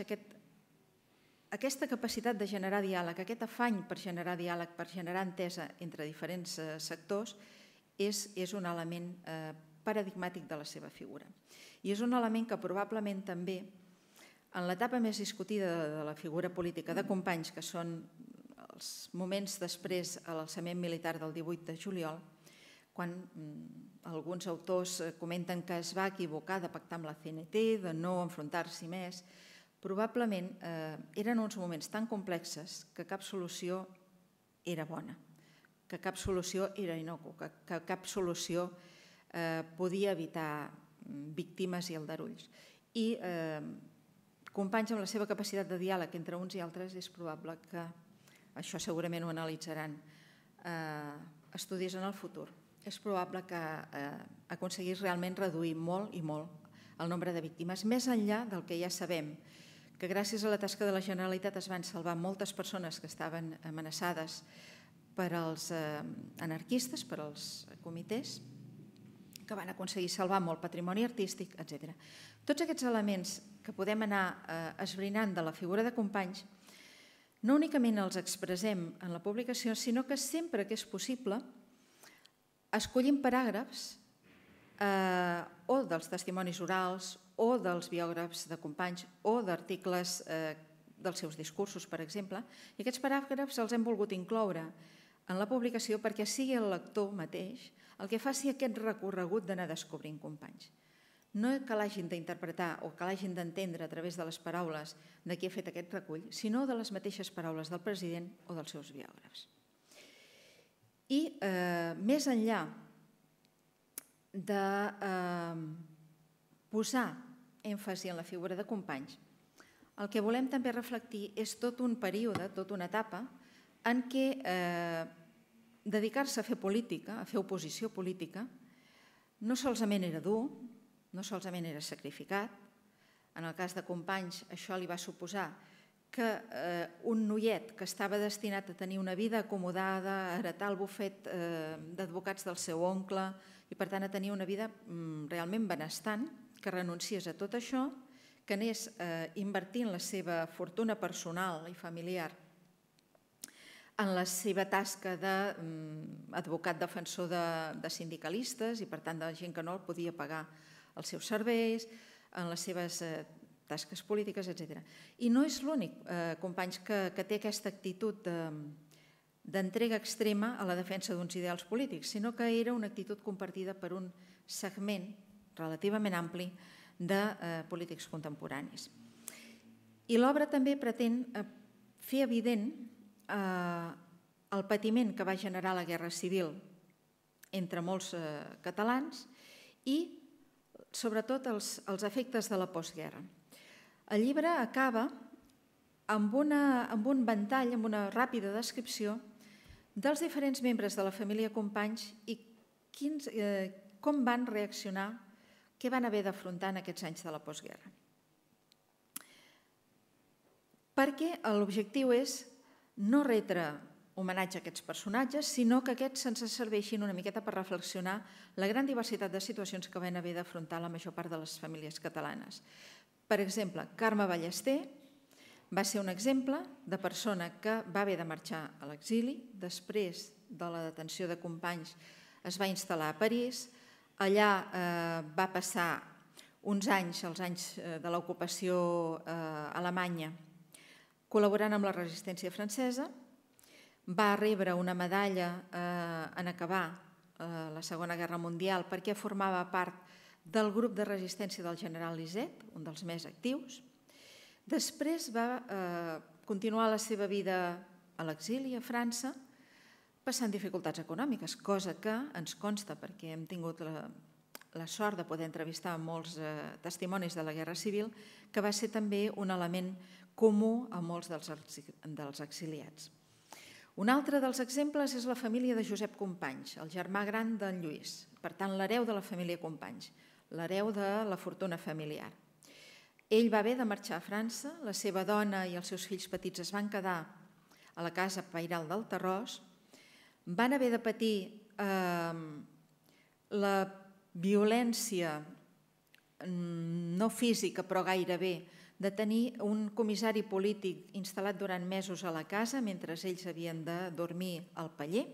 aquesta capacitat de generar diàleg, aquest afany per generar diàleg, per generar entesa entre diferents sectors, és un element paradigmàtic de la seva figura. I és un element que probablement també, en l'etapa més discutida de la figura política de Companys, que són els moments després a l'alçament militar del divuit de juliol, quan alguns autors comenten que es va equivocar de pactar amb la C N T, de no enfrontar-s'hi més, probablement eren uns moments tan complexes que cap solució era bona, que cap solució era innocu, que cap solució podia evitar víctimes i aldarulls. I Companys, amb la seva capacitat de diàleg entre uns i altres, és probable que això segurament ho analitzaran estudis en el futur. És probable que aconseguís realment reduir molt i molt el nombre de víctimes, més enllà del que ja sabem, que gràcies a la tasca de la Generalitat es van salvar moltes persones que estaven amenaçades per als anarquistes, per als comitès, que van aconseguir salvar molt patrimoni artístic, etcètera. Tots aquests elements que podem anar esbrinant de la figura de Companys no únicament els expressem en la publicació, sinó que sempre que és possible escollim paràgrafs o dels testimonis orals o dels biògrafs de Companys o d'articles dels seus discursos, per exemple, i aquests paràgrafs els hem volgut incloure en la publicació perquè sigui el lector mateix el que faci aquest recorregut d'anar descobrint Companys. No que l'hagin d'interpretar o que l'hagin d'entendre a través de les paraules de qui ha fet aquest recull, sinó de les mateixes paraules del president o dels seus biògrafs. I més enllà de posar èmfasi en la figura de Companys, el que volem també reflectir és tot un període, tota una etapa, en què dedicar-se a fer política, a fer oposició política, no solament era dur, no solament era sacrificat. En el cas de Companys, això li va suposar que un noiet que estava destinat a tenir una vida acomodada, a heretar el bufet d'advocats del seu oncle i, per tant, a tenir una vida realment benestant, que renunciés a tot això, que anés invertint la seva fortuna personal i familiar en la seva tasca d'advocat defensor de sindicalistes i, per tant, de gent que no el podia pagar els seus serveis, en les seves tasques polítiques, etcètera. I no és l'únic, Companys, que té aquesta actitud d'entrega extrema a la defensa d'uns ideals polítics, sinó que era una actitud compartida per un segment relativament ampli de polítics contemporanis. I l'obra també pretén fer evident el patiment que va generar la Guerra Civil entre molts catalans i sobretot els efectes de la postguerra. El llibre acaba amb un ventall, amb una ràpida descripció dels diferents membres de la família Companys i com van reaccionar, què van haver d'afrontar en aquests anys de la postguerra. Perquè l'objectiu és no retre homenatge a aquests personatges, sinó que aquests ens serveixin una miqueta per reflexionar la gran diversitat de situacions que van haver d'afrontar la major part de les famílies catalanes. Per exemple, Carme Ballester va ser un exemple de persona que va haver de marxar a l'exili, després de la detenció de Companys es va instal·lar a París, allà va passar uns anys, els anys de l'ocupació alemanya, col·laborant amb la resistència francesa, va rebre una medalla en acabar la Segona Guerra Mundial perquè formava part del grup de resistència del general Lisset, un dels més actius. Després va continuar la seva vida a l'exili a França, passant dificultats econòmiques, cosa que ens consta perquè hem tingut la sort de poder entrevistar molts testimonis de la Guerra Civil, que va ser també un element comú a molts dels exiliats. Un altre dels exemples és la família de Josep Companys, el germà gran d'en Lluís, per tant l'hereu de la família Companys, l'hereu de la fortuna familiar. Ell va haver de marxar a França, la seva dona i els seus fills petits es van quedar a la casa pairal del Terròs, van haver de patir la violència no física però gairebé de tenir un comissari polític instal·lat durant mesos a la casa mentre ells havien de dormir al paller,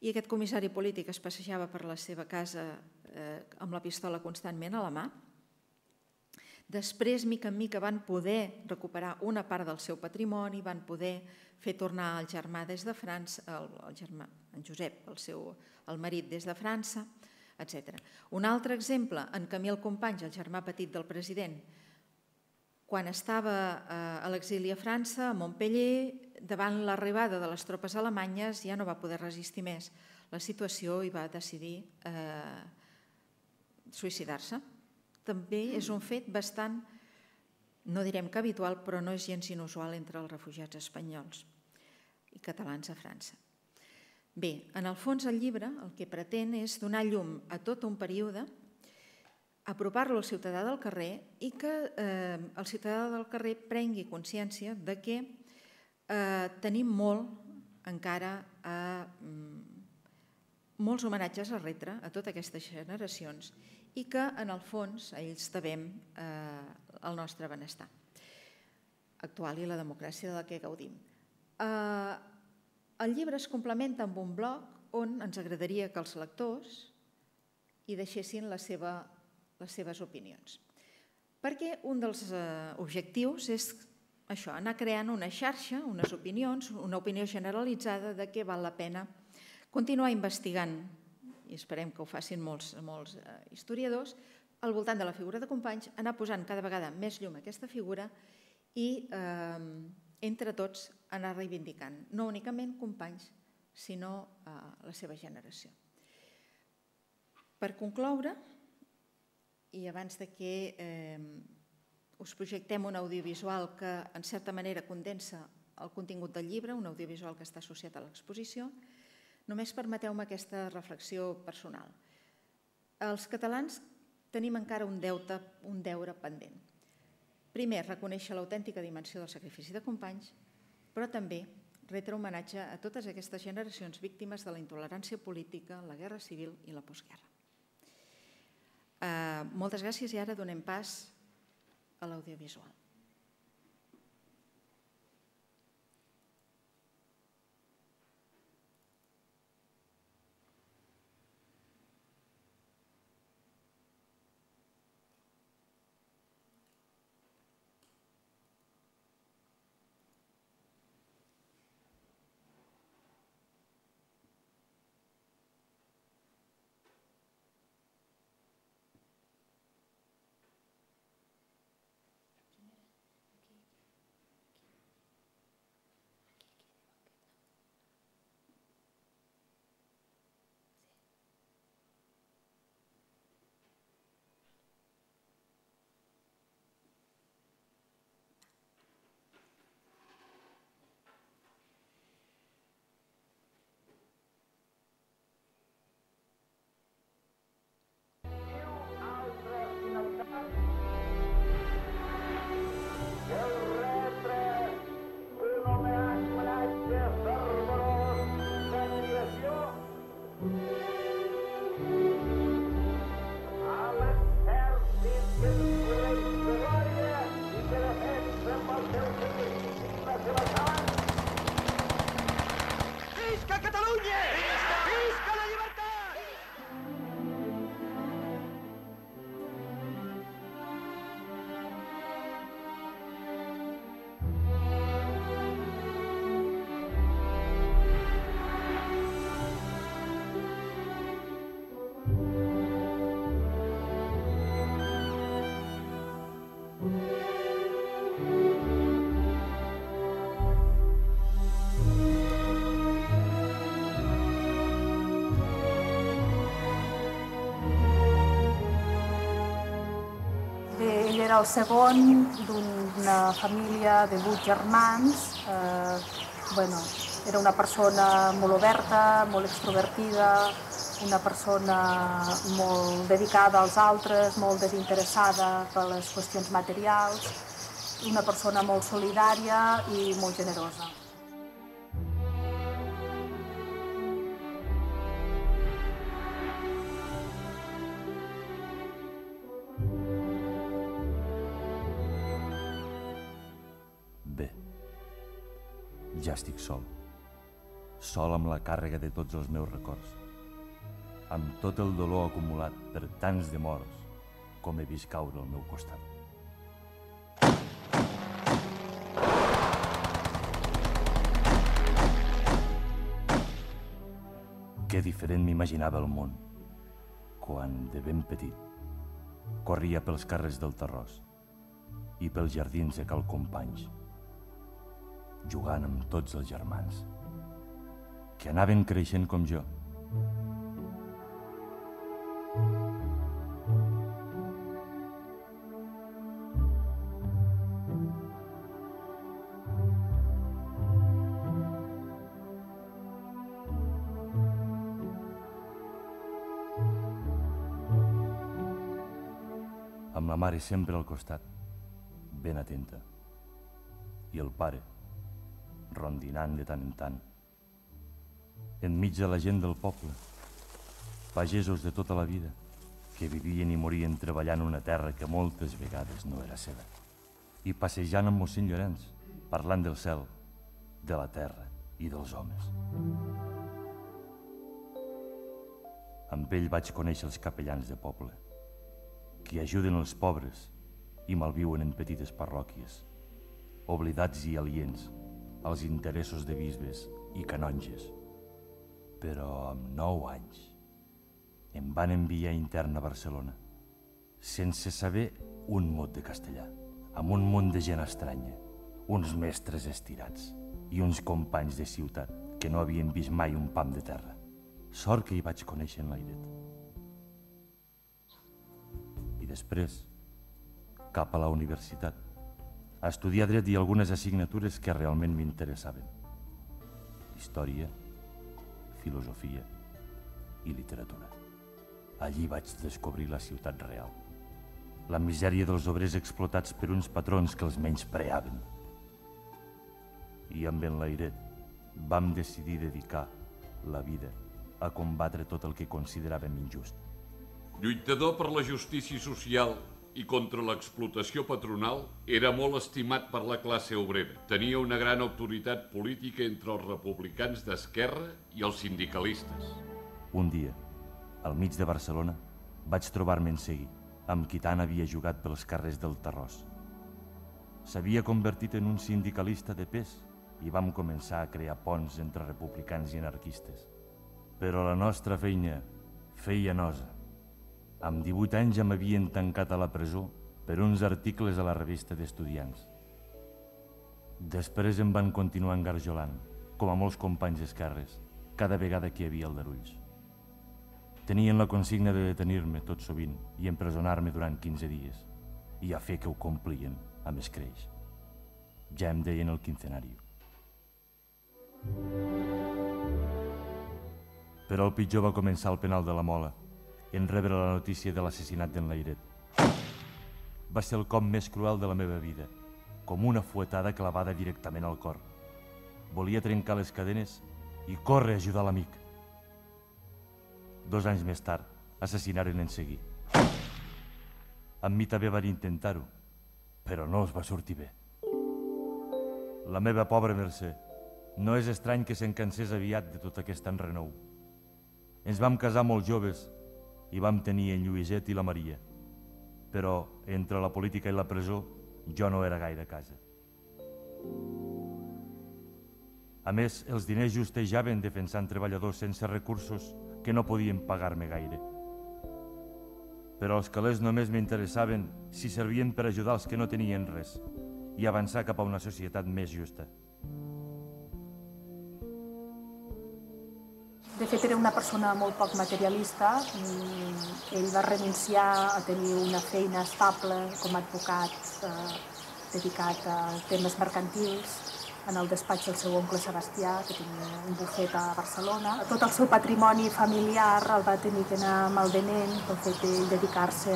i aquest comissari polític es passejava per la seva casa amb la pistola constantment a la mà. Després, mica en mica, van poder recuperar una part del seu patrimoni, van poder fer tornar el germà des de França, el germà, en Josep, el marit des de França, etcètera. Un altre exemple, en Camil Companys, el germà petit del president, quan estava a l'exili a França, a Montpeller, davant l'arribada de les tropes alemanyes, ja no va poder resistir més la situació i va decidir suïcidar-se. També és un fet bastant, no direm que habitual, però no és gens inusual entre els refugiats espanyols i catalans a França. Bé, en el fons el llibre el que pretén és donar llum a tot un període, apropar-lo al ciutadà del carrer i que el ciutadà del carrer prengui consciència de que tenim molt encara molts homenatges a retre a totes aquestes generacions i que en el fons ells devem el nostre benestar actual i la democràcia de la que gaudim. El llibre es complementa amb un blog on ens agradaria que els lectors hi deixessin la seva les seves opinions. Perquè un dels objectius és això, anar creant una xarxa, unes opinions, una opinió generalitzada de què val la pena continuar investigant, i esperem que ho facin molts historiadors, al voltant de la figura de Companys, anar posant cada vegada més llum a aquesta figura i entre tots anar reivindicant, no únicament Companys, sinó la seva generació. Per concloure, i abans que us projectem un audiovisual que en certa manera condensa el contingut del llibre, un audiovisual que està associat a l'exposició, només permeteu-me aquesta reflexió personal. Els catalans tenim encara un deute, un deure pendent. Primer, reconèixer l'autèntica dimensió del sacrifici de Companys, però també retre homenatge a totes aquestes generacions víctimes de la intolerància política, la guerra civil i la postguerra. Moltes gràcies i ara donem pas a l'audiovisual. era el segon d'una família de vuit germans. Eh, bueno, era una persona molt oberta, molt extrovertida, una persona molt dedicada als altres, molt desinteressada per les qüestions materials, una persona molt solidària i molt generosa. Bé, ja estic sol, sol amb la càrrega de tots els meus records, amb tot el dolor acumulat per tants de morts com he vist caure al meu costat. Que diferent m'imaginava el món quan, de ben petit, corria pels carrers del Tarròs i pels jardins de Cal Companys, jugant amb tots els germans, que anaven creixent com jo. Amb la mare sempre al costat, ben atenta, i el pare, rondinant de tant en tant. Enmig de la gent del poble, pagesos de tota la vida, que vivien i morien treballant una terra que moltes vegades no era seva, i passejant amb mossèn Llorenç, parlant del cel, de la terra i dels homes. Amb ell vaig conèixer els capellans de poble, que ajuden els pobres i malviuen en petites parròquies, oblidats i aliens als interessos de bisbes i canonges. Però amb nou anys em van enviar intern a Barcelona, sense saber un mot de castellà, amb un munt de gent estranya, uns mestres estirats i uns companys de ciutat que no havien vist mai un pam de terra. Sort que hi vaig conèixer en l'airet. I després, cap a la universitat, a estudiar dret i algunes assignatures que realment m'interessaven. Història, filosofia i literatura. Allí vaig descobrir la ciutat real, la misèria dels obrers explotats per uns patrons que els menyspreaven. I amb en l'airet vam decidir dedicar la vida a combatre tot el que consideràvem injust. Lluitador per la justícia social i contra l'explotació patronal, era molt estimat per la classe obrera. Tenia una gran autoritat política entre els republicans d'esquerra i els sindicalistes. Un dia, al mig de Barcelona, vaig trobar-me en Seguí, amb qui tant havia jugat pels carrers del Tarròs. S'havia convertit en un sindicalista de pes i vam començar a crear ponts entre republicans i anarquistes. Però la nostra feina feia nosa. Amb divuit anys ja m'havien tancat a la presó per uns articles a la revista d'estudiants. Després em van continuar engarjolant, com a molts companys d'esquerres, cada vegada que hi havia aldarulls. Tenien la consigna de detenir-me tot sovint i empresonar-me durant quinze dies, i a fer que ho complien amb escreix. Ja em deien el quincenari. Però el pitjor va començar al penal de la Mola, en rebre la notícia de l'assassinat d'en l'Airet. Va ser el cop més cruel de la meva vida, com una fuetada clavada directament al cor. Volia trencar les cadenes i córrer a ajudar l'amic. Dos anys més tard, assassinaren en Seguí. Amb mi també van intentar-ho, però no els va sortir bé. La meva pobra Mercè, no és estrany que se'n cansés aviat de tot aquest enrenou. Ens vam casar molt joves i vam tenir en Lluïset i la Maria, però entre la política i la presó jo no era gaire a casa. A més, els diners justejaven defensant treballadors sense recursos que no podien pagar-me gaire. Però els calés només m'interessaven si servien per ajudar els que no tenien res i avançar cap a una societat més justa. De fet, era una persona molt poc materialista. Ell va renunciar a tenir una feina estable com a advocat dedicat a temes mercantils en el despatx del seu oncle Sebastià, que tenia un bufet a Barcelona. Tot el seu patrimoni familiar el va tenir que anar malvenent pel fet de dedicar-se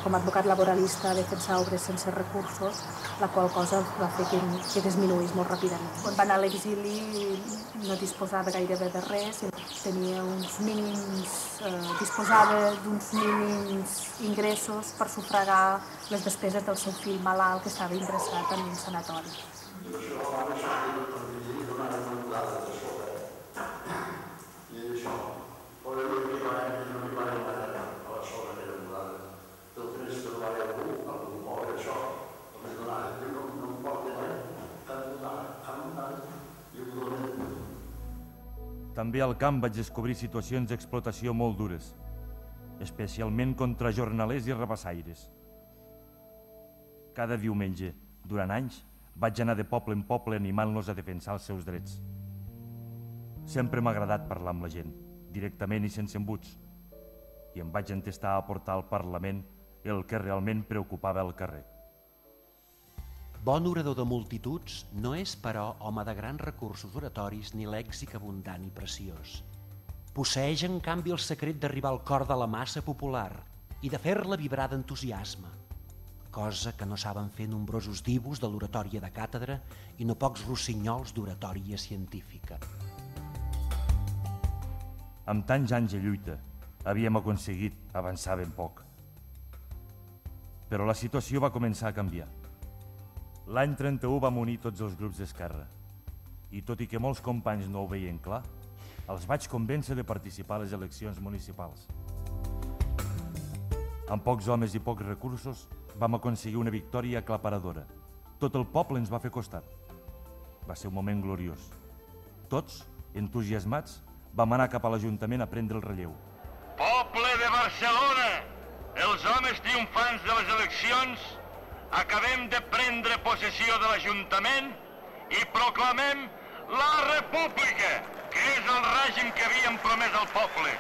com a advocat laboralista a defensar obres sense recursos, la qual cosa va fer que, que disminuís molt ràpidament. Quan va anar a l'exili no disposava gairebé de res, tenia uns mínims, eh, disposava d'uns mínims ingressos per sufragar les despeses del seu fill malalt que estava ingressat en un sanatori. També al camp vaig descobrir situacions d'explotació molt dures, especialment contra jornalers i rabassaires. Cada diumenge, durant anys, vaig anar de poble en poble animant-los a defensar els seus drets. Sempre m'ha agradat parlar amb la gent, directament i sense embuts, i em vaig entestar a portar al Parlament el que realment preocupava al carrer. Bon orador de multituds no és, però, home de grans recursos oratoris ni lèxic abundant i preciós. Posseeix, en canvi, el secret d'arribar al cor de la massa popular i de fer-la vibrar d'entusiasme, cosa que no saben fer nombrosos divus de l'oratòria de càtedra i no pocs rossinyols d'oratòria científica. Amb tants anys de lluita, havíem aconseguit avançar ben poc. Però la situació va començar a canviar. L'any trenta-u vam unir tots els grups d'Esquerra i, tot i que molts companys no ho veien clar, els vaig convèncer de participar a les eleccions municipals. Amb pocs homes i pocs recursos vam aconseguir una victòria aclaparadora. Tot el poble ens va fer costat. Va ser un moment gloriós. Tots, entusiasmats, vam anar cap a l'Ajuntament a prendre el relleu. Poble de Barcelona! Els homes triomfants de les eleccions acabem de prendre possessió de l'Ajuntament i proclamem la República, que és el règim que havíem promès al poble.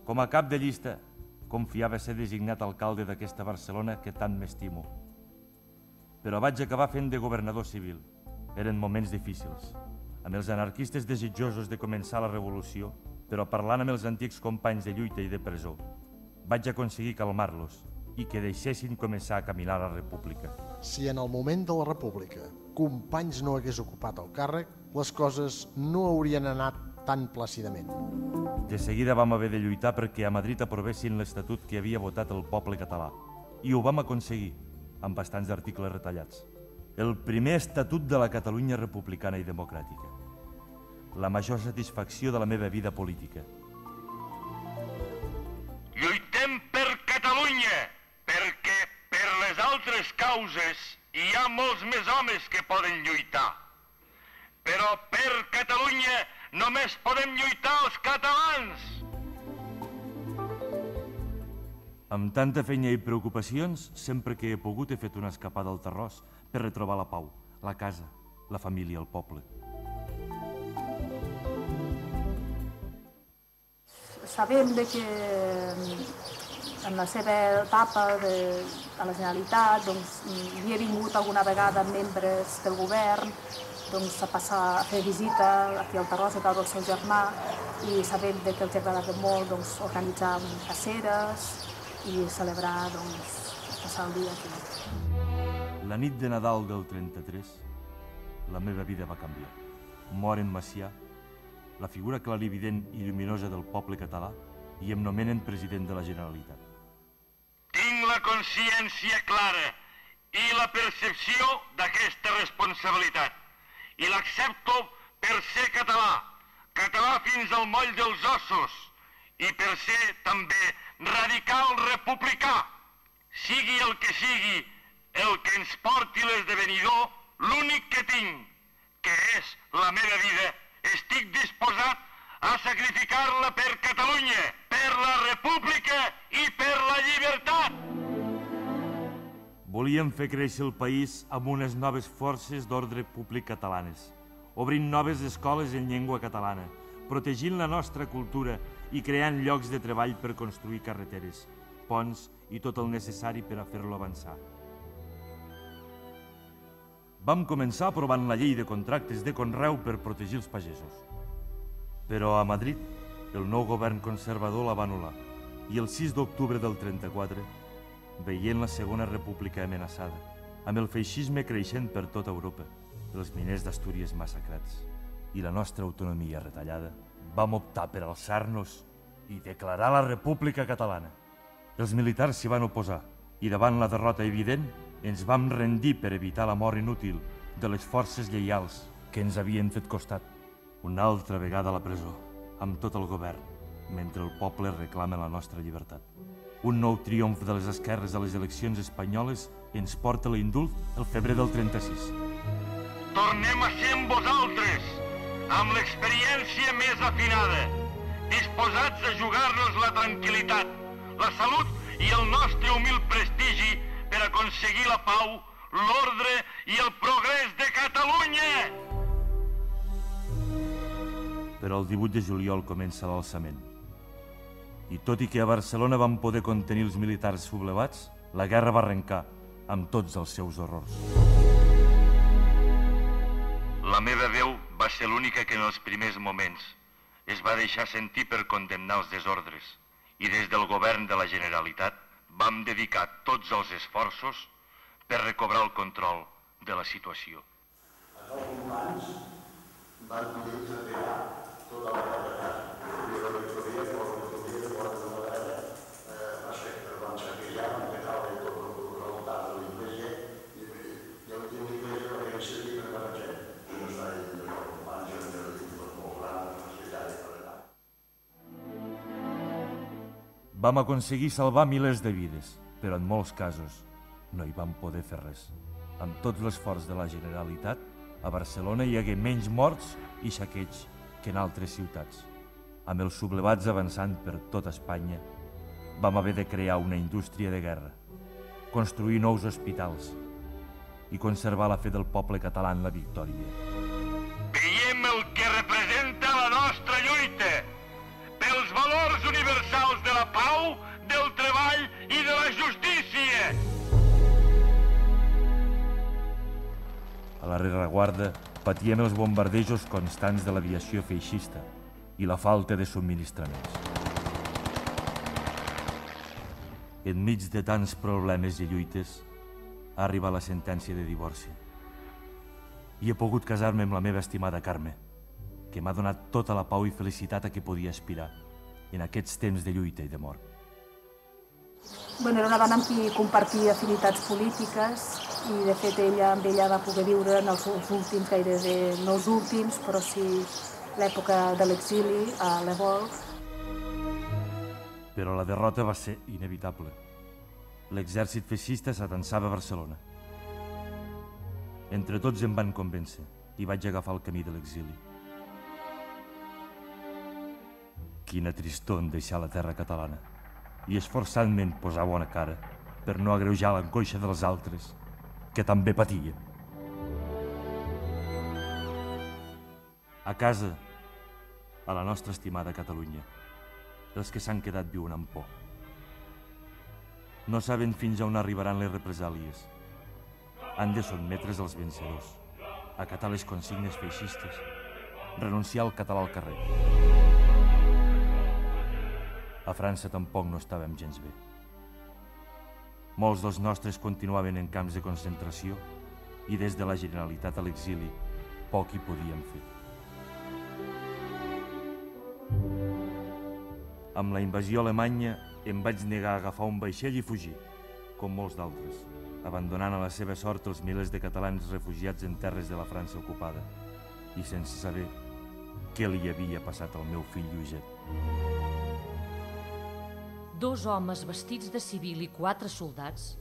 Com a cap de llista, confiava ser designat alcalde d'aquesta Barcelona que tant m'estimo. Però vaig acabar fent de governador civil. Eren moments difícils, amb els anarquistes desitjosos de començar la revolució, però parlant amb els antics companys de lluita i de presó, vaig aconseguir calmar-los i que deixessin començar a caminar la república. Si en el moment de la república Companys no hagués ocupat el càrrec, les coses no haurien anat tan plàcidament. De seguida vam haver de lluitar perquè a Madrid aprovessin l'Estatut que havia votat el poble català. I ho vam aconseguir, amb bastants articles retallats. El primer Estatut de la Catalunya republicana i democràtica. La major satisfacció de la meva vida política. Lluitem per Catalunya, perquè per les altres causes hi ha molts més homes que poden lluitar. Però per Catalunya només podem lluitar els catalans. Amb tanta feina i preocupacions, sempre que he pogut he fet una escapada al Tarròs per retrobar la pau, la casa, la família, el poble. Sabem que en la seva etapa de, a la Generalitat doncs, hi havia vingut alguna vegada membres del govern doncs, a passar a fer visita aquí al Tarròs a casa del seu germà i sabem que els agradava molt doncs, organitzar caceres i celebrar, doncs, passar el dia aquí. La nit de Nadal del trenta-tres, la meva vida va canviar. Mor en Macià, la figura clarivident i lluminosa del poble català, i em nomenen president de la Generalitat. Tinc la consciència clara i la percepció d'aquesta responsabilitat. I l'accepto per ser català, català fins al moll dels ossos, i per ser també radical republicà. Sigui el que sigui el que ens porti l'esdevenidor, l'únic que tinc, que és la meva vida, estic disposat a sacrificar-la per Catalunya, per la República i per la llibertat. Volíem fer créixer el país amb unes noves forces d'ordre públic catalanes, obrint noves escoles en llengua catalana, protegint la nostra cultura i creant llocs de treball per construir carreteres, ponts i tot el necessari per a fer-lo avançar. Vam començar aprovant la llei de contractes de conreu per protegir els pagesos. Però a Madrid, el nou govern conservador la va anul·lar i el sis d'octubre del trenta-quatre, veient la Segona República amenaçada, amb el feixisme creixent per tota Europa, els miners d'Astúries massacrats i la nostra autonomia retallada, vam optar per alçar-nos i declarar la República Catalana. Els militars s'hi van oposar i davant la derrota evident ens vam rendir per evitar la mort inútil de les forces lleials que ens havien fet costat. Una altra vegada a la presó, amb tot el govern, mentre el poble reclama la nostra llibertat. Un nou triomf de les esquerres a les eleccions espanyoles ens porta l'indult el febrer del trenta-sis. Tornem a ser amb vosaltres, amb l'experiència més afinada, disposats a jugar-nos la tranquil·litat, la salut i el nostre humil prestigi per aconseguir la pau, l'ordre i el progrés de Catalunya! Però el divuit de juliol comença l'alçament. I tot i que a Barcelona van poder contenir els militars sublevats, la guerra va arrencar amb tots els seus horrors. La meva veu va ser l'única que en els primers moments es va deixar sentir per condemnar els desordres i des del govern de la Generalitat vam dedicar tots els esforços per recobrar el control de la situació. Els companys van poder treballar tota la realitat. I la victòria, per l'autonomia de la dreta, va ser que van saquejar, van petar tot el resultat de l'Iglesia i l'últim l'Iglesia va haver servir per la gent. I no està dins dels companys, en el diputat molt gran, la facilitat per allà. Vam aconseguir salvar milers de vides, però en molts casos no hi vam poder fer res. Amb tot l'esforç de la Generalitat, a Barcelona hi hagué menys morts i saqueig que en altres ciutats. Amb els sublevats avançant per tota Espanya, vam haver de crear una indústria de guerra, construir nous hospitals i conservar la fe del poble català en la victòria. Veiem el que representa la nostra lluita pels valors universals de la pau, del treball i de la justícia. A la rereguarda patíem els bombardejos constants de l'aviació feixista i la falta de subministraments. Enmig de tants problemes i lluites, ha arribat la sentència de divorci. I he pogut casar-me amb la meva estimada Carme, que m'ha donat tota la pau i felicitat a què podia aspirar en aquests temps de lluita i de mort. Bueno, era una dona amb qui compartia afinitats polítiques i, de fet, ella amb ella va poder viure en els últims, gairebé no els últims, però sí l'època de l'exili a l'Evol. Però la derrota va ser inevitable. L'exèrcit feixista s'atansava a Barcelona. Entre tots em van convèncer i vaig agafar el camí de l'exili. Quina tristor en deixar la terra catalana i esforçant-me'n posar bona cara per no agreujar l'angoixa dels altres, que també patia. A casa, a la nostra estimada Catalunya, els que s'han quedat viuen amb por. No saben fins a on arribaran les represàlies. Han de sotmetre's als vencedors, acatar les consignes feixistes, renunciar al català al carrer. A França tampoc no estàvem gens bé. Molts dels nostres continuaven en camps de concentració i des de la Generalitat a l'exili poc hi podíem fer. Amb la invasió alemanya em vaig negar a agafar un vaixell i fugir, com molts d'altres, abandonant a la seva sort els milers de catalans refugiats en terres de la França ocupada i sense saber què li havia passat al meu fill Lluïset. Dos homes vestits de civil i quatre soldats,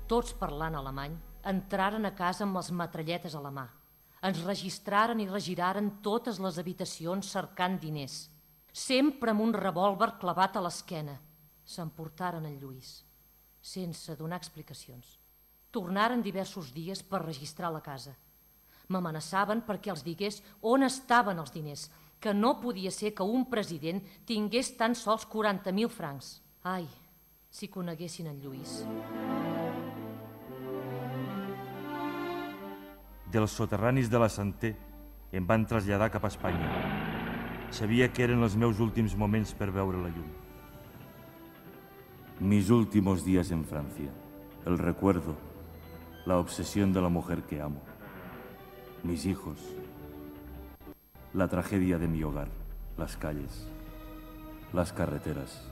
tots parlant alemany, entraren a casa amb les metralletes a la mà. Ens registraren i regiraren totes les habitacions cercant diners, sempre amb un revòlver clavat a l'esquena. S'emportaren el Lluís, sense donar explicacions. tornaren diversos dies per registrar la casa. M'amenaçaven perquè els digués on estaven els diners, que no podia ser que un president tingués tan sols quaranta mil francs. Ai, si coneguessin en Lluís. Dels soterranis de la Santé em van traslladar cap a Espanya. Sabia que eren els meus últims moments per veure la llum. Mis últimos días en Francia. El recuerdo, la obsesión de la mujer que amo. Mis hijos. La tragedia de mi hogar, las calles, las carreteras,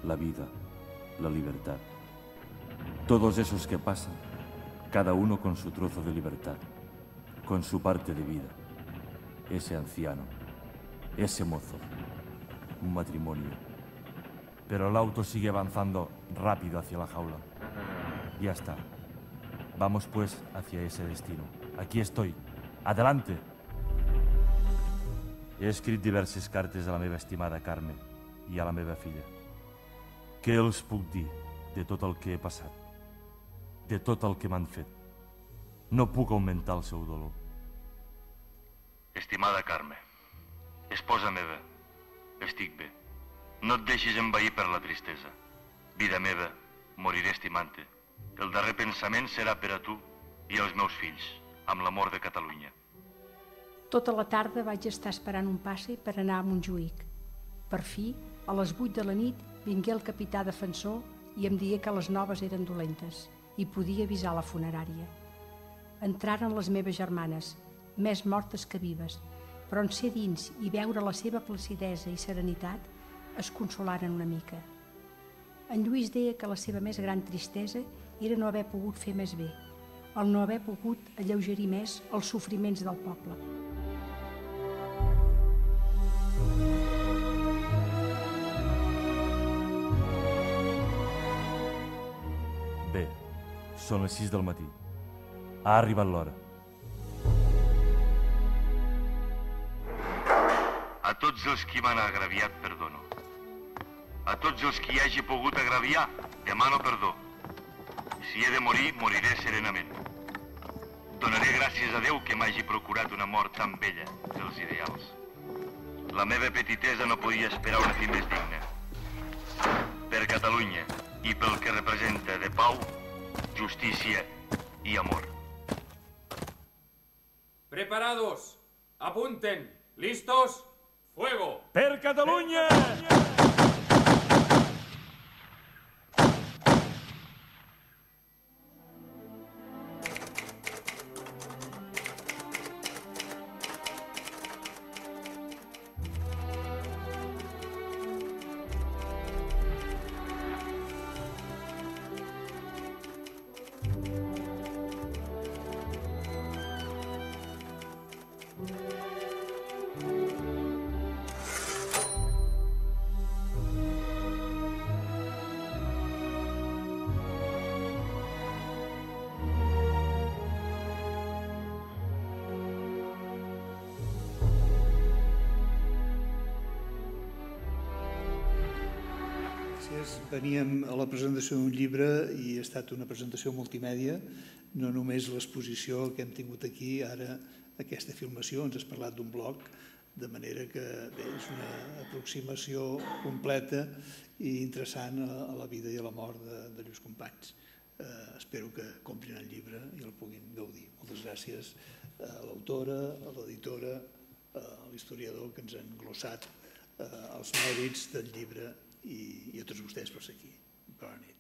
la vida, la libertad. Todos esos que pasan, cada uno con su trozo de libertad, con su parte de vida. Ese anciano, ese mozo, un matrimonio. Pero el auto sigue avanzando rápido hacia la jaula. Ya está. Vamos pues hacia ese destino. Aquí estoy. Adelante! He escrit diverses cartes a la meva estimada Carme i a la meva filla. Què els puc dir de tot el que he passat? De tot el que m'han fet? No puc augmentar el seu dolor. Estimada Carme, esposa meva, estic bé. No et deixis envair per la tristesa. Vida meva, moriré estimant-te. El darrer pensament serà per a tu i els meus fills, amb l'amor de Catalunya. Tota la tarda vaig estar esperant un passe per anar a Montjuïc. Per fi, a les vuit de la nit, vingué el capità defensor i em digué que les noves eren dolentes i podia avisar la funerària. Entraren les meves germanes, més mortes que vives, però en ser dins i veure la seva placidesa i serenitat es consolaren una mica. En Lluís deia que la seva més gran tristesa era no haver pogut fer més bé, el no haver pogut alleugerir més els sofriments del poble. Bé, són les sis del matí. Ha arribat l'hora. A tots els qui m'han agraviat, perdono. A tots els qui hagi pogut agraviar, demano perdó. Si he de morir, moriré serenament. Donaré gràcies a Déu que m'hagi procurat una mort tan bella dels ideals. La meva petitesa no podia esperar una fi més digna. Per Catalunya i pel que representa de pau, justícia i amor. Preparados, apunten, listos, fuego. Per Catalunya! Veníem a la presentació d'un llibre i ha estat una presentació multimèdia, no només l'exposició que hem tingut aquí, ara aquesta filmació, ens has parlat d'un blog, de manera que bé, és una aproximació completa i interessant a la vida i a la mort de, de Lluís Companys. Eh, espero que comprin el llibre i el puguin gaudir. Moltes gràcies a l'autora, a l'editora, a l'historiador que ens han glossat eh, els mèrits del llibre i, i a tots vostès per ser aquí. Bona nit.